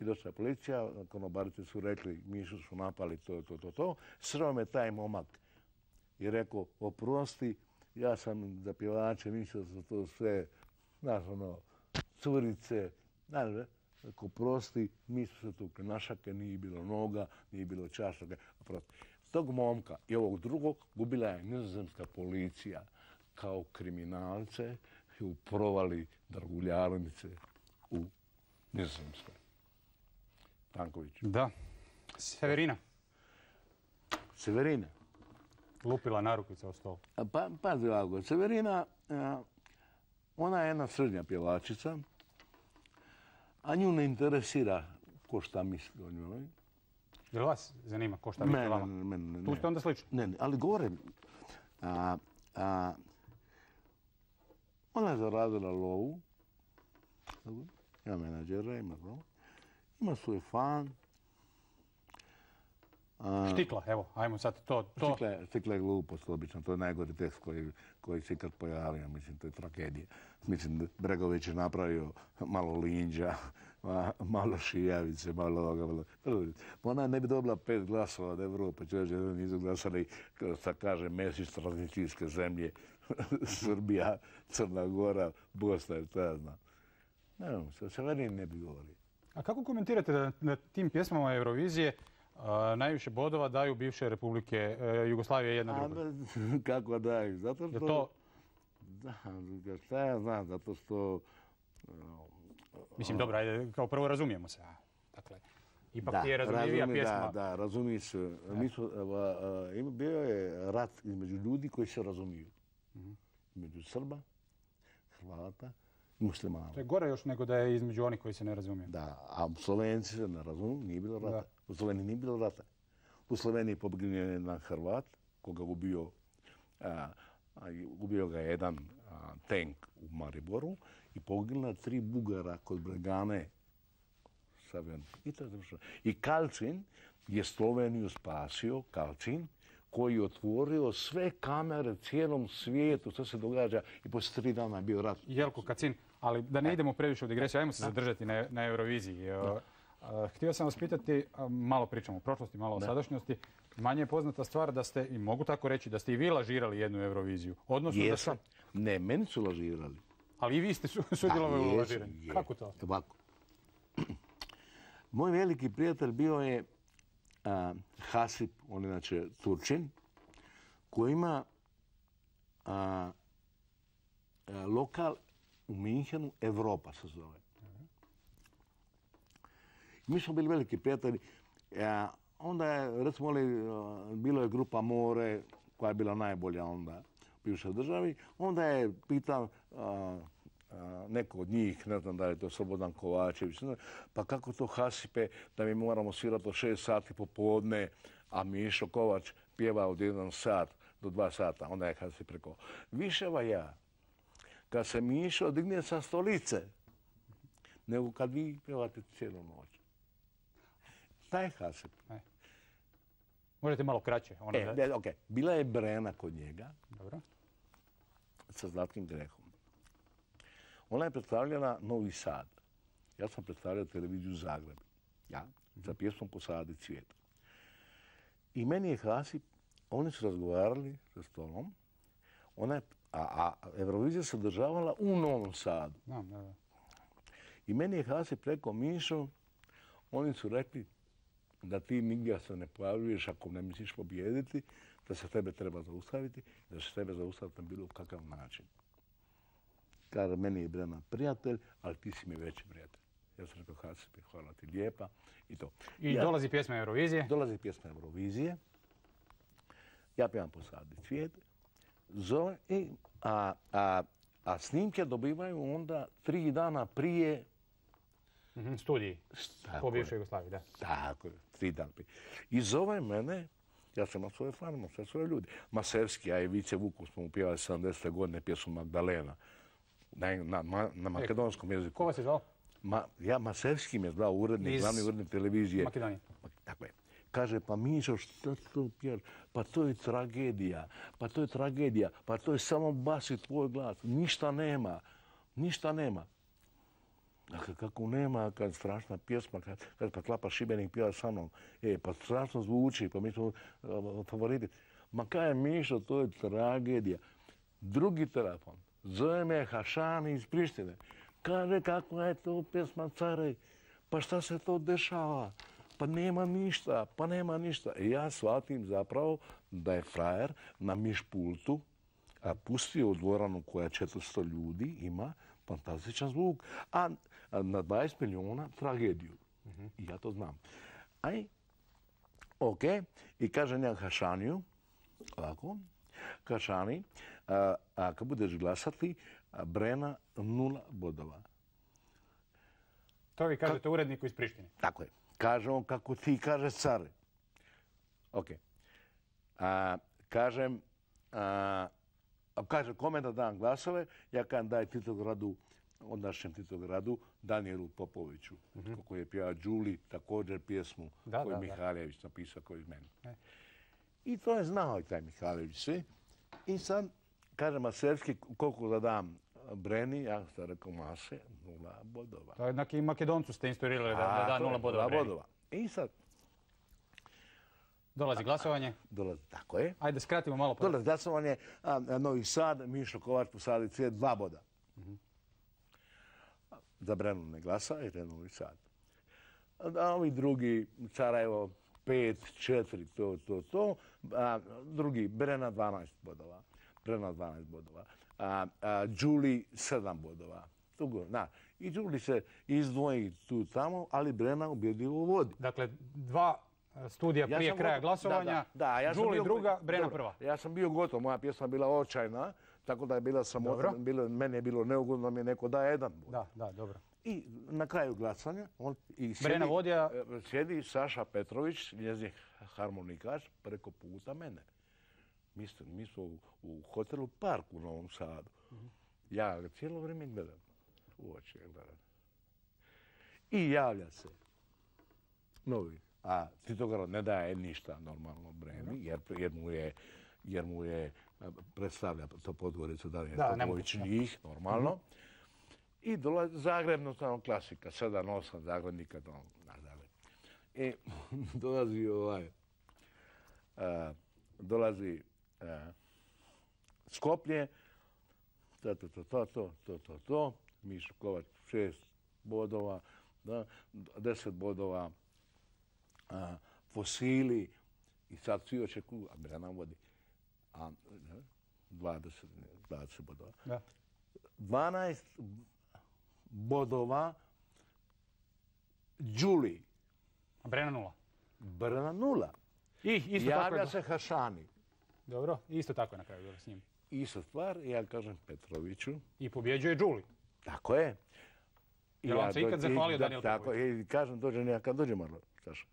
I došla je policija, konobarice su rekli, Mišu su napali to. Sreo me taj momak i rekao, oprosti, ja sam za pjevače, mislio sam to sve, znaš curice, znaš, rekao, oprosti, mislio se tukli, našake, nije bilo noga, nije bilo čašaka, oprosti. Tog momka i ovog drugog gubila je nizozemska policija kao kriminalce i u provali draguljarnice u Nizozemskoj. Tanković. Da. Severina. Severina. Lupila narukvica o stol. Pazi ovako, Severina, ona je jedna srednja pjevačica, a nju ne interesira ko šta misli o njoj. Jel vas zanima ko šta misli o vama? Mene. Tu ste onda slični? Ne, ali govorim. Ona je zaradila lovu. Ima menadžera, ima svoj fan. Štikla, evo, ajmo sad to. Štikla je glupost, obično. To je najgori tekst koji se ikad pojavio. Mislim, to je tragedija. Mislim, Bregović je napravio malo Linđa, malo Šijavice, malo ovoga. Ona ne bi dobila 5 glasova od Evrope. Čovječe, nisu glasali, kao se kaže, Mesić, tranzicijske zemlje, Srbija, Crna Gora, Bosna i šta znam. Ne, Severin ne bi govorio. A kako komentirate da na tim pjesmama Eurovizije najviše bodova daju bivše republike Jugoslavije jedna druga? Kako daju? Zato što... To... Da, šta ja znam, zato što... Mislim, dobro, ajde, kao prvo razumijemo se. Dakle, ipak ti je razumljivija pjesma. Da, razumije se. Bio je rat između ljudi koji se razumiju. Između Srba, Hrvata i Muslimana. To je gore još nego da je između onih koji se ne razumiju. Da, a Slovenci se ne razumiju, nije bilo rata. U Sloveniji nije bilo rata. U Sloveniji poginuo je jedan Hrvat, koga ubio ga jedan tank u Mariboru i poginula 3 Bugara kod Bregane. I Kalčin je Sloveniju spasio, Kalčin, koji je otvorio sve kamere cijelom svijetu, što se događa i poslije 3 dana je bio rat. Jelko Kacin, Ali da ne idemo previše u digresiju, ajmo se zadržati na Euroviziji. Htio sam vas pitati, malo pričamo o prošlosti, malo o sadašnjosti. Manje je poznata stvar da ste, i mogu tako reći, da ste i vi lažirali jednu Euroviziju. Jesam. Ne, meni su lažirali. Ali i vi ste sudjelovali u lažiranju. Kako to? Ovako. Moj veliki prijatelj bio je Hasip, on inače Turčin, koji ima lokal u Minhenu, Europa se zove. Mi smo bili veliki prijatelji. Onda je, recimo, bilo je grupa More, koja je bila najbolja onda u bivšoj državi. Onda je pitao neko od njih, ne znam da je to Slobodan Kovačević, pa kako to Hasipe da mi moramo svirati od 6 sati popodne, a Mišo Kovač pjeva od 1 sat do 2 sata. Onda je Hasip rekao, viševa ja, kad se Mišo digne sa stolice, nego kad vi pjevate cijelu noć. Taj Hasip. Možete malo kraće. Bila je Brena kod njega. Dobro. Sa Zlatkim grehom. Ona je predstavljala Novi Sad. Ja sam predstavljao televiziju Zagreb. Ja, za pjesmom Posadi cvijet. I meni je Hasip, oni su razgovarali za stolom, a Eurovizija se održavala u Novom Sadu. I meni je Hasip rekao, Mišo, oni su rekli da ti nigdje se ne pojavljuješ ako ne misliš pobijediti, da se tebe treba zaustaviti, da se tebe zaustaviti na bilo kakav način. Kaže, meni je Brena prijatelj, ali ti si mi veći prijatelj. Ja sam rekao, Hasipe, hvala ti lijepa i to. I dolazi pjesma Eurovizije? Dolazi pjesma Eurovizije. Ja pjevam Posadi cvijet. A snimke dobivaju onda 3 dana prije studiji po bivšoj Jugoslaviji, da. Tako je, 3 dana prije. I zove mene, ja sam imao svoje fane, imao sve svoje ljudi. Maserski, a i Vice Vukov smo upjevali 70. godine pjesmu Magdalena. Na makedonskom jeziku. Ko vas je zvao? Maserski me je zvao urednik, glavni urednik televizije. Makedonije. Tako je. Kaže, pa Mišo, što to pjevaš? Pa to je tragedija, pa to je samo bas i tvoj glas. Ništa nema. Dakle, kako nema, kad strašna pjesma, kad pa Klapa Šibenik pjeva sa mnom, pa strašno zvuči, pa mi smo favoriti. Ma kaj je Mišo, to je tragedija. Drugi telefon, zove me Hašani iz Prištine. Kaže, kakva je to pjesma, care, pa šta se to dešava? Pa nema ništa. I ja shvatim zapravo da je frajer na mišpultu pustio u dvoranu koja 400 ljudi ima fantastičan zvuk, a na 20 milijuna tragediju. I ja to znam. I kažem ja Hašaniju, ovako, Hašani, kad budeš glasati, Brena 0 bodova. To vi kažete uredniku iz Prištine? Tako je. Kaže on kako ti kaže care. Kaže kome da dam glasove, ja kažem daj Titogradu, ondašnjem Titogradu, Danijelu Popoviću, koji je pjeva Đuli, također pjesmu koju je Mihaljević napisao koji iz mene. I to je znao i taj Mihaljević sve. I sad, kaže Maserski, koliko da dam Breni, ja sam rekao mase, 0 bodova. To je i Makedoncu ste instruirali da da 0 bodova Breni. I sad... Dolazi glasovanje? Tako je. Ajde, skratimo malo. Dolazi glasovanje, Novi Sad, Mišo Kovač, Posadi cvijet, 2 boda. Za Brenu ne glasa, jer je Novi Sad. A ovi drugi, Sarajevo, 5, 4, to. Drugi, Brena 12 bodova. Đuli 7 bodova. I Đuli se izdvoji tu tamo, ali Brena ubjedljivo vodi. Dakle, 2 studija prije kraja glasovanja, Đuli druga, Brena prva. Ja sam bio gotov, moja pjesma bila očajna, tako da je bila sramota, meni je bilo neugodno, mi je neko daje 1 bod. Da, dobro. I na kraju glasanja Brena vodija... sjedi Saša Petrović, njezin harmonikaš, preko puta mene. Mi smo u hotelu Park u Novom Sadu. Ja ga cijelo vrijeme gledam. U oči ga gledam. I javlja se novi. A Titograd ne daje ništa normalno Breni, jer mu je predstavlja to Podgoricu, da je Popović njih, normalno. I dolazi Zagreb, tamo klasika, 7-8 Zagrebnika, tamo na Zagreb. I dolazi Skoplje, to, Mišo Kovač 6 bodova, 10 bodova, Fosili, i sad svi očekuju, a Brena vodi 20 bodova. 12 bodova Đuli. A Brena 0? Brena 0. Javlja se Hašani. Dobro, isto tako je na kraju bilo s njim. Ista stvar, ja kažem Petroviću. I pobjeđuje Đuli. Tako je. Jel vam se ikad zahvalio Danijel Petrović? Tako, i kažem, kad dođe malo, Saša.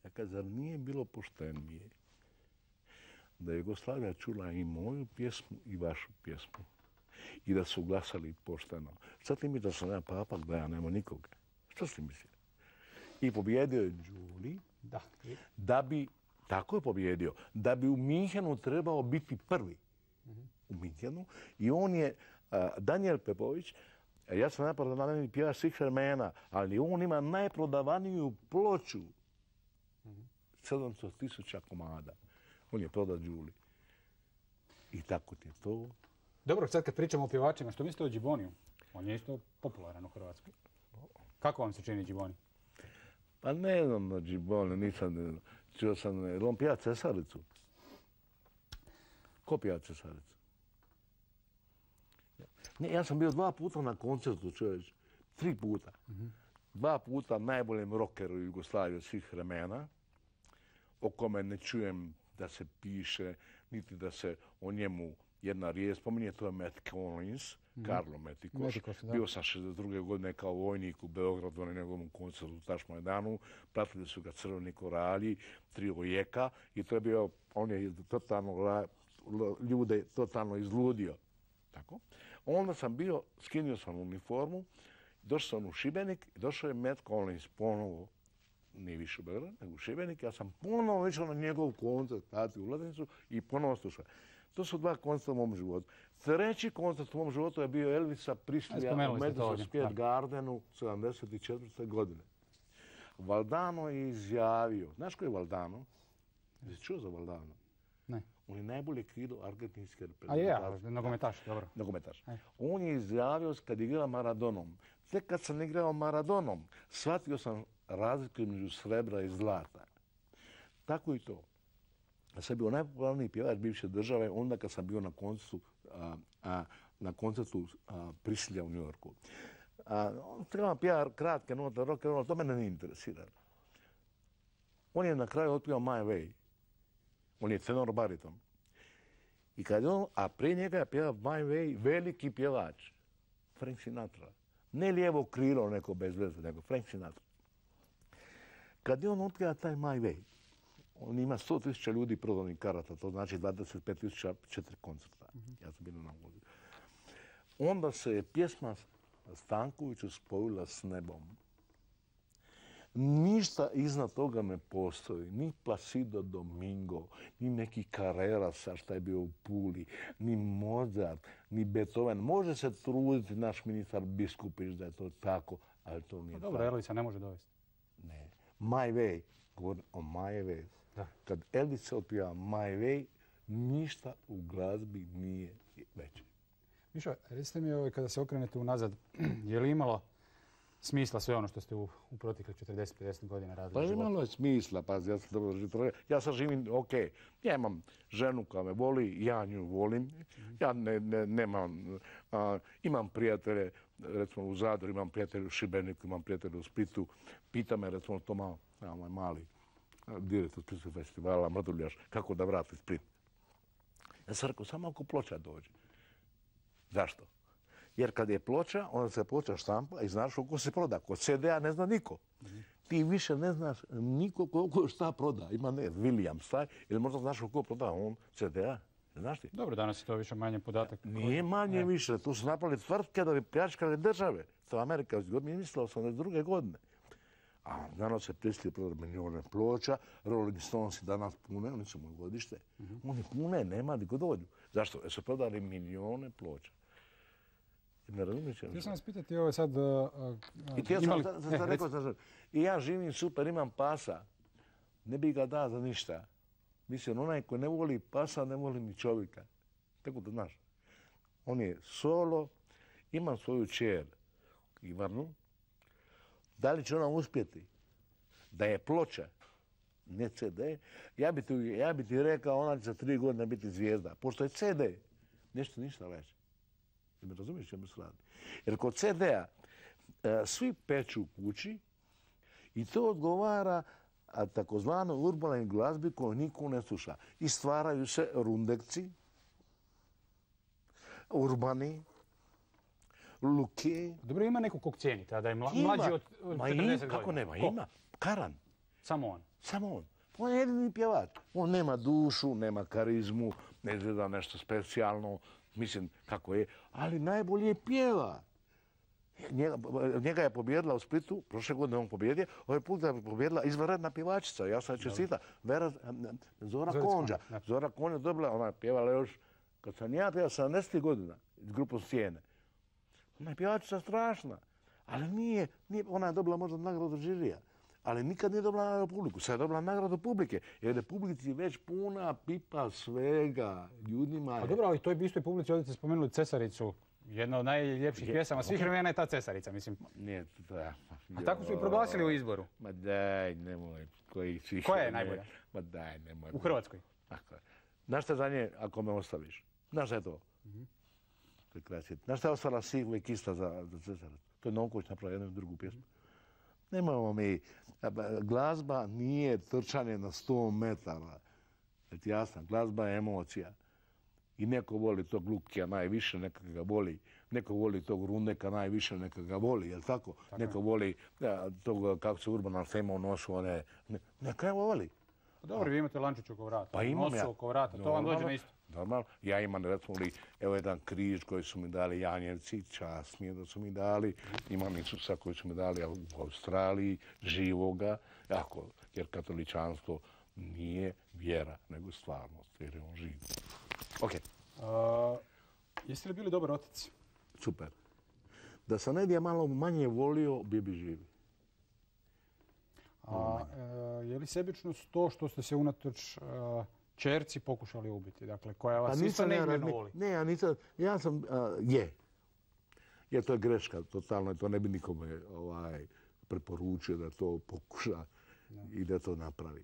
Ja kažem, zar nije bilo poštenije da je Jugoslavija čula i moju pjesmu i vašu pjesmu i da su glasali pošteno? Šta ti mi da sam ja papak, da ja nema nikoga? Što si mislio? I pobjedio je Đuli da bi, tako je pobjedio, da bi u Minhenu trebao biti prvi. U Minhenu. I on je, Danijel Pepović, ja sam najprodavaniji pjevač svih vremena, ali on ima najprodavaniju ploču. 700.000 komada. On je prodao Đuli. I tako ti je to. Dobro, sad kad pričamo o pjevačima, što mislite o Džiboniju? On je isto popularan u Hrvatskoj. Kako vam se čini Džiboni? Pa ne znam na Džiboni, nisam, čuo sam, on pjeva Cesaricu. Ko pjeva Cesaricu? Ne, ja sam bio 2 puta na koncertu, čovječ. 3 puta. 2 puta najboljem rockeru u Jugoslaviji od svih vremena, o kome ne čujem da se piše, niti da se o njemu jedna riječ spominje, to je Matt Collins, Karlo Metikoš. Bio sam 62. godine kao vojnik u Beogradu na njegovom koncertu u Tašmajdanu. Pratili su ga Crveni koralji, trio Jeka i to je bio, on je totalno ljude totalno izludio. Tako. Onda sam bio, skinio sam uniformu, došao sam u Šibenik i došao je Matt Collins ponovo, nije više u Beograd, nego u Šibenik. Ja sam ponovo išao na njegov koncert, dati ulaznicu i ponovo slušao. To su 2 koncerta u mom životu. 3. koncert u mom životu je bio Elvisa Prislija u Madison Square Gardenu 74. godine. Valdano je izjavio, znaš ko je Valdano? Jesi čuo za Valdano? Ne. On je najbolje krilo argentinske reprezentacije. A je, nogometaš, dobro. Nogometaš. On je izjavio kad je igrao Maradonom. Tek kad sam igrao Maradonom, shvatio sam razliku između srebra i zlata. Tako i to. Ja sam bio najpopularniji pjevač bivše države onda kad sam bio na koncertu Prisilja u New Yorku. Trebam pjevati kratke note, rock and roll, to mene ne interesira. On je na kraju otpio My Way. On je tenor bariton. I kad on, a prije njega je pjevao My Way veliki pjevač, Frank Sinatra. Ne lijevo krilo neko bez veze, nego Frank Sinatra. Kad je on otkrio taj My Way, on ima 100.000 ljudi prodanih karata, to znači 25.000 4 koncerta. Ja sam bio na uvodu. Onda se je pjesma Stankoviću spojila s nebom. Ništa iznad toga ne postoji. Ni Placido Domingo, ni neki Carrera šta je bio u Puli, ni Mozart, ni Beethoven. Može se truditi naš ministar Biskupić da je to tako, ali to nije tako. Dobro, Elvisa ne može dovesti. Ne. My Way, govorim o My Way. Kad Elvis se otpjeva My Way, ništa u glazbi nije veće. Mišo, recite mi kada se okrenete unazad, je li imalo smisla sve ono što ste u proteklih 40-50 godina radili? Pa imalo je smisla, pazi, ja sam dobro živio. Ja sad živim, okej, ja imam ženu koja me voli, ja nju volim. Ja nemam, imam prijatelje, recimo u Zadru, imam prijatelje u Šibeniku, imam prijatelje u Splitu. Pita me, recimo, to mali direktor Splitskog festivala, Mrduljaš, kako da vrati Split. Ja sam rekao, samo ako ploča dođe. Zašto? Jer kad je ploča, onda se ploča štampa i znaš koliko se proda. Kod CD-a ne zna niko. Ti više ne znaš niko koliko šta proda. Ima William Staj, ili možda znaš koliko proda on CD-a. Znaš ti? Dobro, danas je to više manje podatak. Nije manje više. Tu su napravili tvrtke da bi pljačkali države. To je Amerika mi mislila 82. godine. A danas se Prislije prodali milijone ploča, Rolling Stones danas pune, oni su moje godište. Oni pune, nema niko dođu. Zašto? Jer su prodali milijone ploča. Ne razumiješ? Htio sam vas pitati ovo sad... I htio sam rekao, i ja živim super, imam pasa. Ne bi ga dao za ništa. Mislim, onaj ko ne voli pasa, ne voli ni čovjeka. Tako da znaš. On je solo, ima svoju čer, Ivanu. Da li će ona uspjeti? Da je ploča, ne CD, ja bi ti rekao ona će za 3 godine biti zvijezda. Pošto je CD, nešto ništa veće. Ne razumiješ čemu se radi? Jer kod CD-a svi peču u kući i to odgovara takozvanoj urbanoj glazbi koju niko ne sluša. I stvaraju se rundekci, urbani, luke. Dobro, ima neko kog cijenite, a da je mlađi od 40 godina? Kako nema? Ima. Karan. Samo on? Samo on. On je jedini pjevač. On nema dušu, nema karizmu, ne izgleda nešto specijalno, mislim kako je, ali najbolje pjeva. Njega je pobjedila u Splitu, prošle godine on pobjedio, ovaj put je pobjedila izvanredna pjevačica, ja sam čestita, Zora Konđa. Zora Konđa dobila, ona je pjevala još, kad sam ja pjevao 70 godina, iz grupu Sjene. Ona je pjevačica strašna, ali nije, ona je dobila možda nagradu žirija, ali nikad nije dobila nagradu publiku. Sad je dobila nagradu publike, jer je publici već puna pipa svega, ljudima je... A dobro, ali toj bi istoj publici ovdje ste spomenuli Cesaricu. Jedna od najljepših pjesama svih vremena je ta Cesarica, mislim. Nije to ja. A tako su i proglasili u izboru. Ma daj, nemoj. Koja je najbolja? Ma daj, nemoj. U Hrvatskoj? Tako je. Znaš šta za nje ako me ostaviš? Znaš šta je to? To je krasno. Znaš šta je ostala Sigla i Kista za Cesaricu? To je Novković napravio jednu i drugu pjesmu. Nemojmo mi. Glazba nije trčanje na 100 metara. Je ti jasno? Glazba je emocija. I neko voli tog Lukija najviše, neka ga voli. Neko voli tog Rundeka najviše, neka ga voli, jel tako? Neko voli tog, kako se Urbana Fema u nosu, one... Neka ga voli. Dobro, vi imate lančić oko vrata. Pa imam ja. Nosu oko vrata, to vam dođe na isto. Normalno. Ja imam, recimo li, evo jedan križ koji su mi dali Janjevci, čast mi je da su mi dali. Imam Isusa koji su mi dali u Australiji, živoga, jer katoličanstvo nije vjera, nego stvarnost, jer je on živ. Ok. Jeste li bili dobar otac? Super. Da sam negdje malo manje volio, bi živi. Je li sebičnost to što ste se unatoč čerci pokušali ubiti? Dakle, koja vas isto neizmjerno voli? Ne, ja nisam. Ja sam, je, to je greška, totalno. To ne bi nikome preporučio da to pokuša i da to napravi.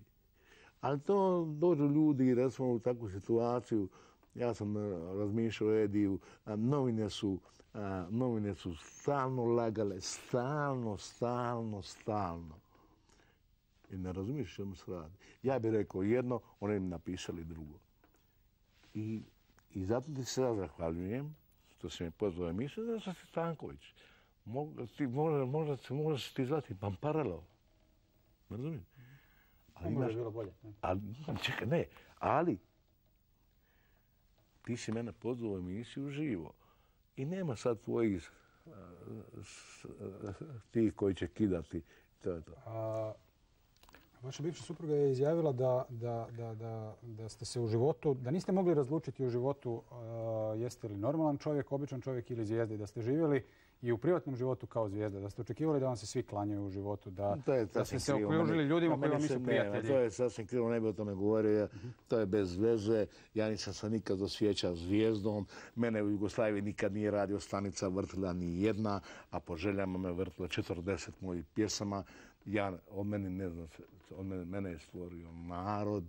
Ali to dođu ljudi, recimo, u takvu situaciju. Ja sam razmišljao o Ediju, novine su stalno lagale, stalno. I ne razumiješ čemu se radi. Ja bih rekao jedno, oni mi napisali drugo. I zato ti se ja zahvaljujem što si me pozvao emisiju, da sam si Stanković. Možda se ti zvati Pamparelo. Ne razumijem? Možda je bilo bolje. Čekaj, ne, ali ti si mene pozvao u emisiju živo. I nema sad tvojih tih koji će kidati. To je to. Vaša bivša supruga je izjavila da ste se u životu, da niste mogli razlučiti u životu jeste li normalan čovjek, običan čovjek ili zvijezda, da ste živjeli i u privatnom životu kao zvijezda, da ste očekivali da vam se svi klanjaju u životu, da ste se okružili ljudima koji vam nisu prijatelji. To je sasvim krivo, ne bi o tome govorio, to je bez veze. Ja nisam se nikad osjećao zvijezdom, mene u Jugoslaviji nikad nije radio stanica vrtila ni jedna, a po željama me vrtila 40 mojih pjesama. Mene je stvorio narod,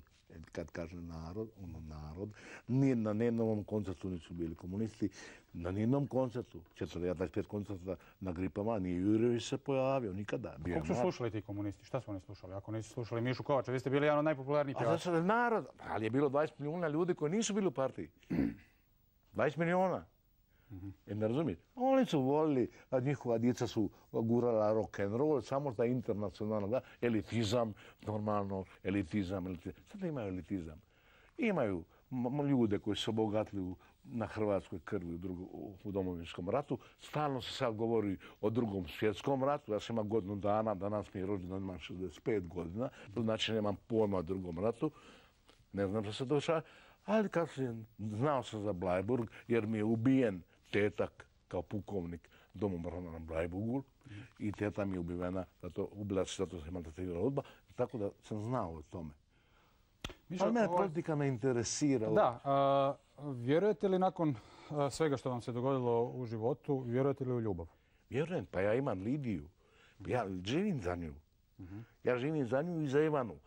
kad kažem narod, narod. Na nijednom koncertu nisu bili komunisti, na nijednom koncertu, 25 koncerta na gripama, nije Jurjević se pojavio, nikada. Kako su slušali ti komunisti? Šta su oni slušali? Ako nisu slušali Mišu Kovača, vi ste bili jedan od najpopularnijih pjevača. A zato je narod, ali je bilo 20 milijuna ljudi koji nisu bili u partiji. 20 milijuna. Ne razumijete? Oni su volili, njihova djeca su gurala rock and roll, samo ta internacionalna, elitizam, normalno, elitizam. Sad imaju elitizam. Imaju ljude koji su obogatili na hrvatskoj krvi u Domovinskom ratu. Stalno se sad govori o Drugom svjetskom ratu. Ja sam imao godinu dana, danas mi je rođendan, imam 65 godina, znači nemam pojma o Drugom ratu. Ne znam što se dešava. Ali znao sam za Bleiburg jer mi je ubijen tetak kao pukovnik domobrana na Bleiburgu i teta mi je ubila se zato se maltretirala udba, tako da sam znao o tome. Ali mene politika ne interesira. Da, vjerujete li nakon svega što vam se dogodilo u životu, vjerujete li u ljubav? Vjerujem, pa ja imam Lidiju. Ja živim za nju. Ja živim za nju i za Ivanu.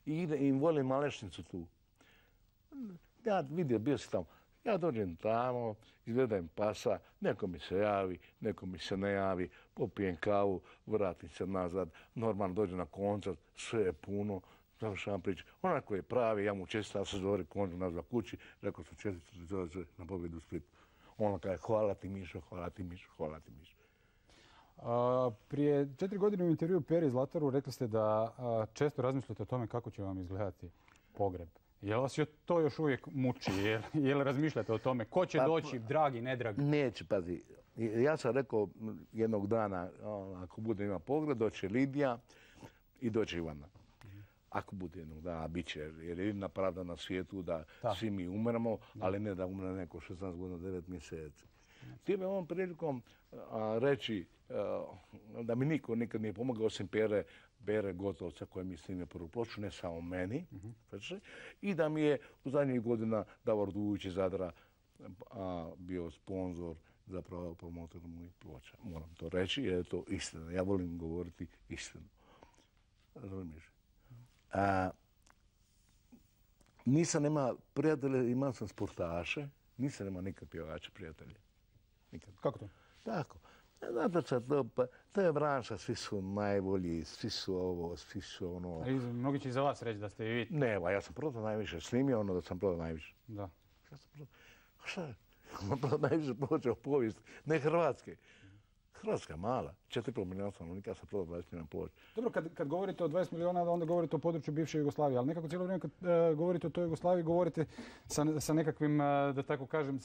I volim Malešnicu tu. Ja vidio, bio sam tamo. Ja dođem tamo, izgledam pasa, neko mi se javi, neko mi se ne javi, popijem kavu, vratim se nazad, normalno dođem na koncert, sve je puno, završavam priču. Onako je pravi, ja mu čestitam se zove koncert nazad kući, rekao sam čestitam na pobjedu u Splitu. Ona kaže, hvala ti Mišo, hvala ti Mišo, hvala ti Mišo. Prije 4 godine u intervju Peri Zlataru rekli ste da često razmišljate o tome kako će vam izgledati pogreb. Je li vas to još uvijek muči? Je li razmišljate o tome? Ko će doći, dragi, nedragi? Neće, pazi. Ja sam rekao jednog dana, ako bude ima pogreb, doće Lidija i doće Ivana. Ako bude jednog dana, bit će. Jer je jedina pravda na svijetu da svi mi umremo, ali ne da umre neko 16 godina, 9 mjeseci. Htio bih ovom prilikom reći da mi niko nikad nije pomogao osim Pere Gotovca koji mi snimio prvu ploču, ne samo meni. I da mi je u zadnjih godina Davor Dujić iz Zadra bio sponzor, zapravo promotor mojih ploča. Moram to reći jer je to istina. Ja volim govoriti istinu. Razumiješ? Nisam nema prijatelje, imao sam sportaše, nisam nema nikad pjevača prijatelje. Nikad. Kako to? Tako. Zato što to je branša, svi su najbolji, svi su ovo, svi su ono... Mnogi će i za vas reći da ste i vi... Ne, ja sam prodao najviše, snimio ono da sam prodao najviše. Da. Šta je? On prodao najviše ploča u povijesti, ne Hrvatske. Hrvatska je mala, 4,5 milijuna stanovnika, sam prodao 20 milijuna ploča. Dobro, kad govorite o 20 milijuna, onda govorite o području bivše Jugoslavije, ali nekako cijelo vrijeme kad govorite o toj Jugoslaviji, govorite sa nekakvim, da tako kažem,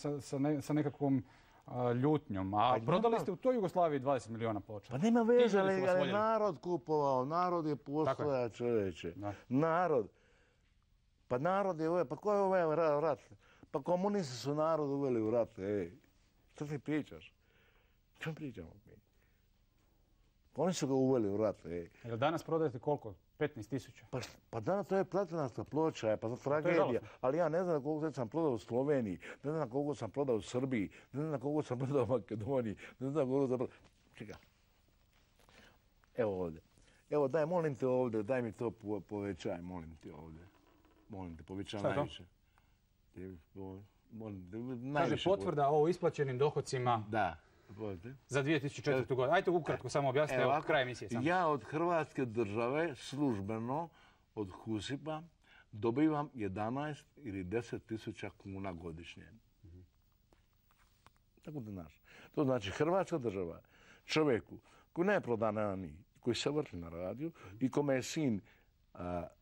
sa nekakvom ljutnjom. A prodali ste u toj Jugoslaviji 20 milijuna ploča. Pa nema veze, ali narod kupovao, narod je postoja, čovječe. Narod. Pa narod je uveo, pa ko je uveo rat? Pa komunisti su narod uveli u rat, ej. Što ti pričaš? Što pričamo mi? Oni su ga uveli u rat, ej. Jel danas prodajete koliko? 15.000? Pa danas to je platinasta ploča, pa to tragedija. Ali ja ne znam koliko sam prodao u Sloveniji, ne znam koliko sam prodao u Srbiji, ne znam koliko sam prodao u Makedoniji, ne znam koliko sam prodao... Čekaj. Evo ovdje. Evo daj, molim te ovdje, daj mi to povećaj, molim ti ovdje. Molim te, povećaj najviše. Kaže potvrda o isplaćenim dohodcima. Da. Za 2004. godinu. Ajde ukratko samo objasnite evo kraj emisije. Ja od Hrvatske države službeno od HUSIP-a dobivam 11 ili 10.000 kuna godišnje. Tako da znaš. To znači Hrvatska država čovjeku koji ne prodan koji se vrti na radiju i kome je sin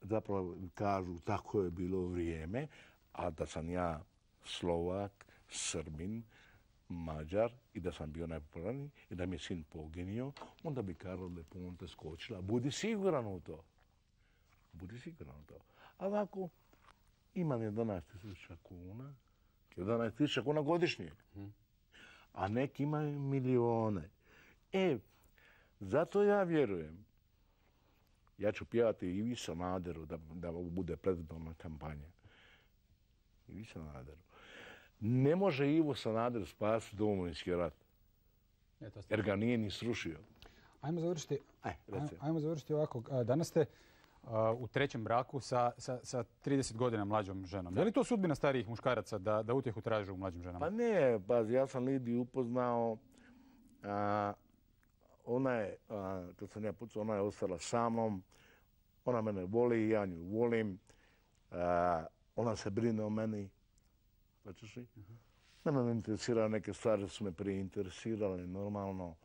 zapravo kažu tako je bilo vrijeme, a da sam ja Slovak, Srbin, Mađar i da sam bio najpopularniji i da mi je sin poginio, onda bi Karla de Ponte skočila. Budi siguran u to. Budi siguran u to. A ovako, imam 11.000 kuna, 11.000 kuna godišnje. A neki imaju milijone. Zato ja vjerujem. Ja ću pjevati Ivi Sanaderu da bude predizborna kampanja. Ivi Sanaderu. Ne može Ivo Sanader spasiti Domovinski rat. Jer ga nije ni srušio. Ajmo završiti ovako. Danas ste u trećem braku sa 30 godina mlađom ženom. Je li to sudbina starijih muškaraca da utjehu traže u mlađim ženama? Pa ne, pazi, ja sam Lidiju upoznao. Ona je, kad sam ja pucao, ona je ostala sa mnom. Ona mene voli, ja nju volim. Ona se brine o meni. Mene ne interesiraju neke stvari, su me prije interesirale, normalno.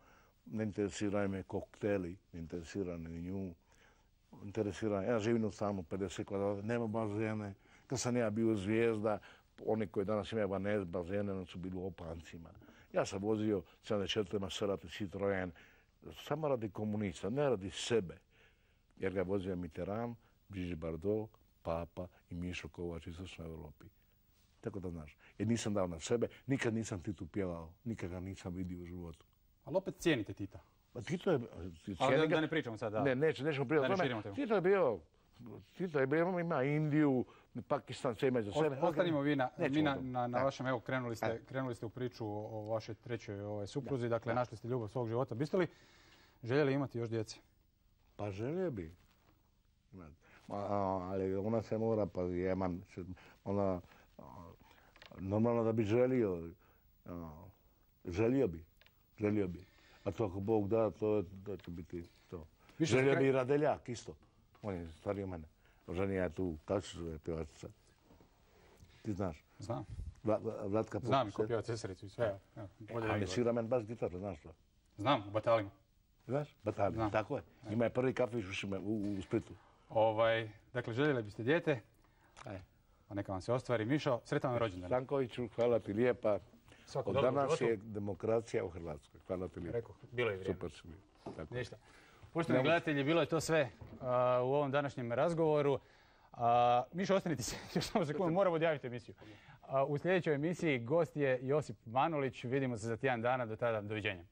Ne interesiraju me kokteli, ne interesiraju ni nju. Ja živim u stanu 50 kvadrata, nema bazene. Kad sam ja bio zvijezda, oni koji danas imaju bazene, oni su bili u opancima. Ja sam vozio 74 Maserati Citroen, samo radi komunista, ne radi sebe. Jer ga je vozio Mitterrand, Brigitte Bardot, Papa i Mišo Kovač iz Istočnoj Europi. tako da znaš. Jer nisam dao na sebe, nikad nisam Titu pjevao, nikad ga nisam vidio u životu. Ali opet cijenite Tita. Pa Tito je... Ali da ne pričamo sad, da. Ne, nećemo pričati o tome. Tito je bio, ima Indiju, Pakistan, sve ima za sebe. Ostanimo vi na vašem, evo, krenuli ste u priču o vašoj trećoj supruzi, dakle, našli ste ljubav svog života. Biste li željeli imati još djece? Pa želio bi. Ali ona se mora, pa ona, normalno da bi želio. Želio bi. A to ako Bog da, to će biti to. Želio bi i Radeljak isto. On je stariji od mene. Ženija je tu, kako se zove pjevačica? Ti znaš? Znam. Vlatka znam ko pjeva Cesaricu i sve. A ne svira men baš gitaru, znaš to? Znam, u Batalima. Znaš? Batalima, tako je. Ima je prvi kafić u Splitu. Dakle, željeli biste dijete, a neka vam se ostvari. Mišo, sretan vam rođendan. Stankoviću, hvala ti lijepa. Od danas je demokracija u Hrvatskoj. Hvala ti lijepo. Rekao, bilo je vrijeme. Super si bio. Ništa. Poštovani gledatelji, bilo je to sve u ovom današnjem razgovoru. Mišo, ostanite se, još samo sekundu, moramo odjaviti emisiju. U sljedećoj emisiji gost je Josip Manulić. Vidimo se za tjedan dana, do tada, doviđenja.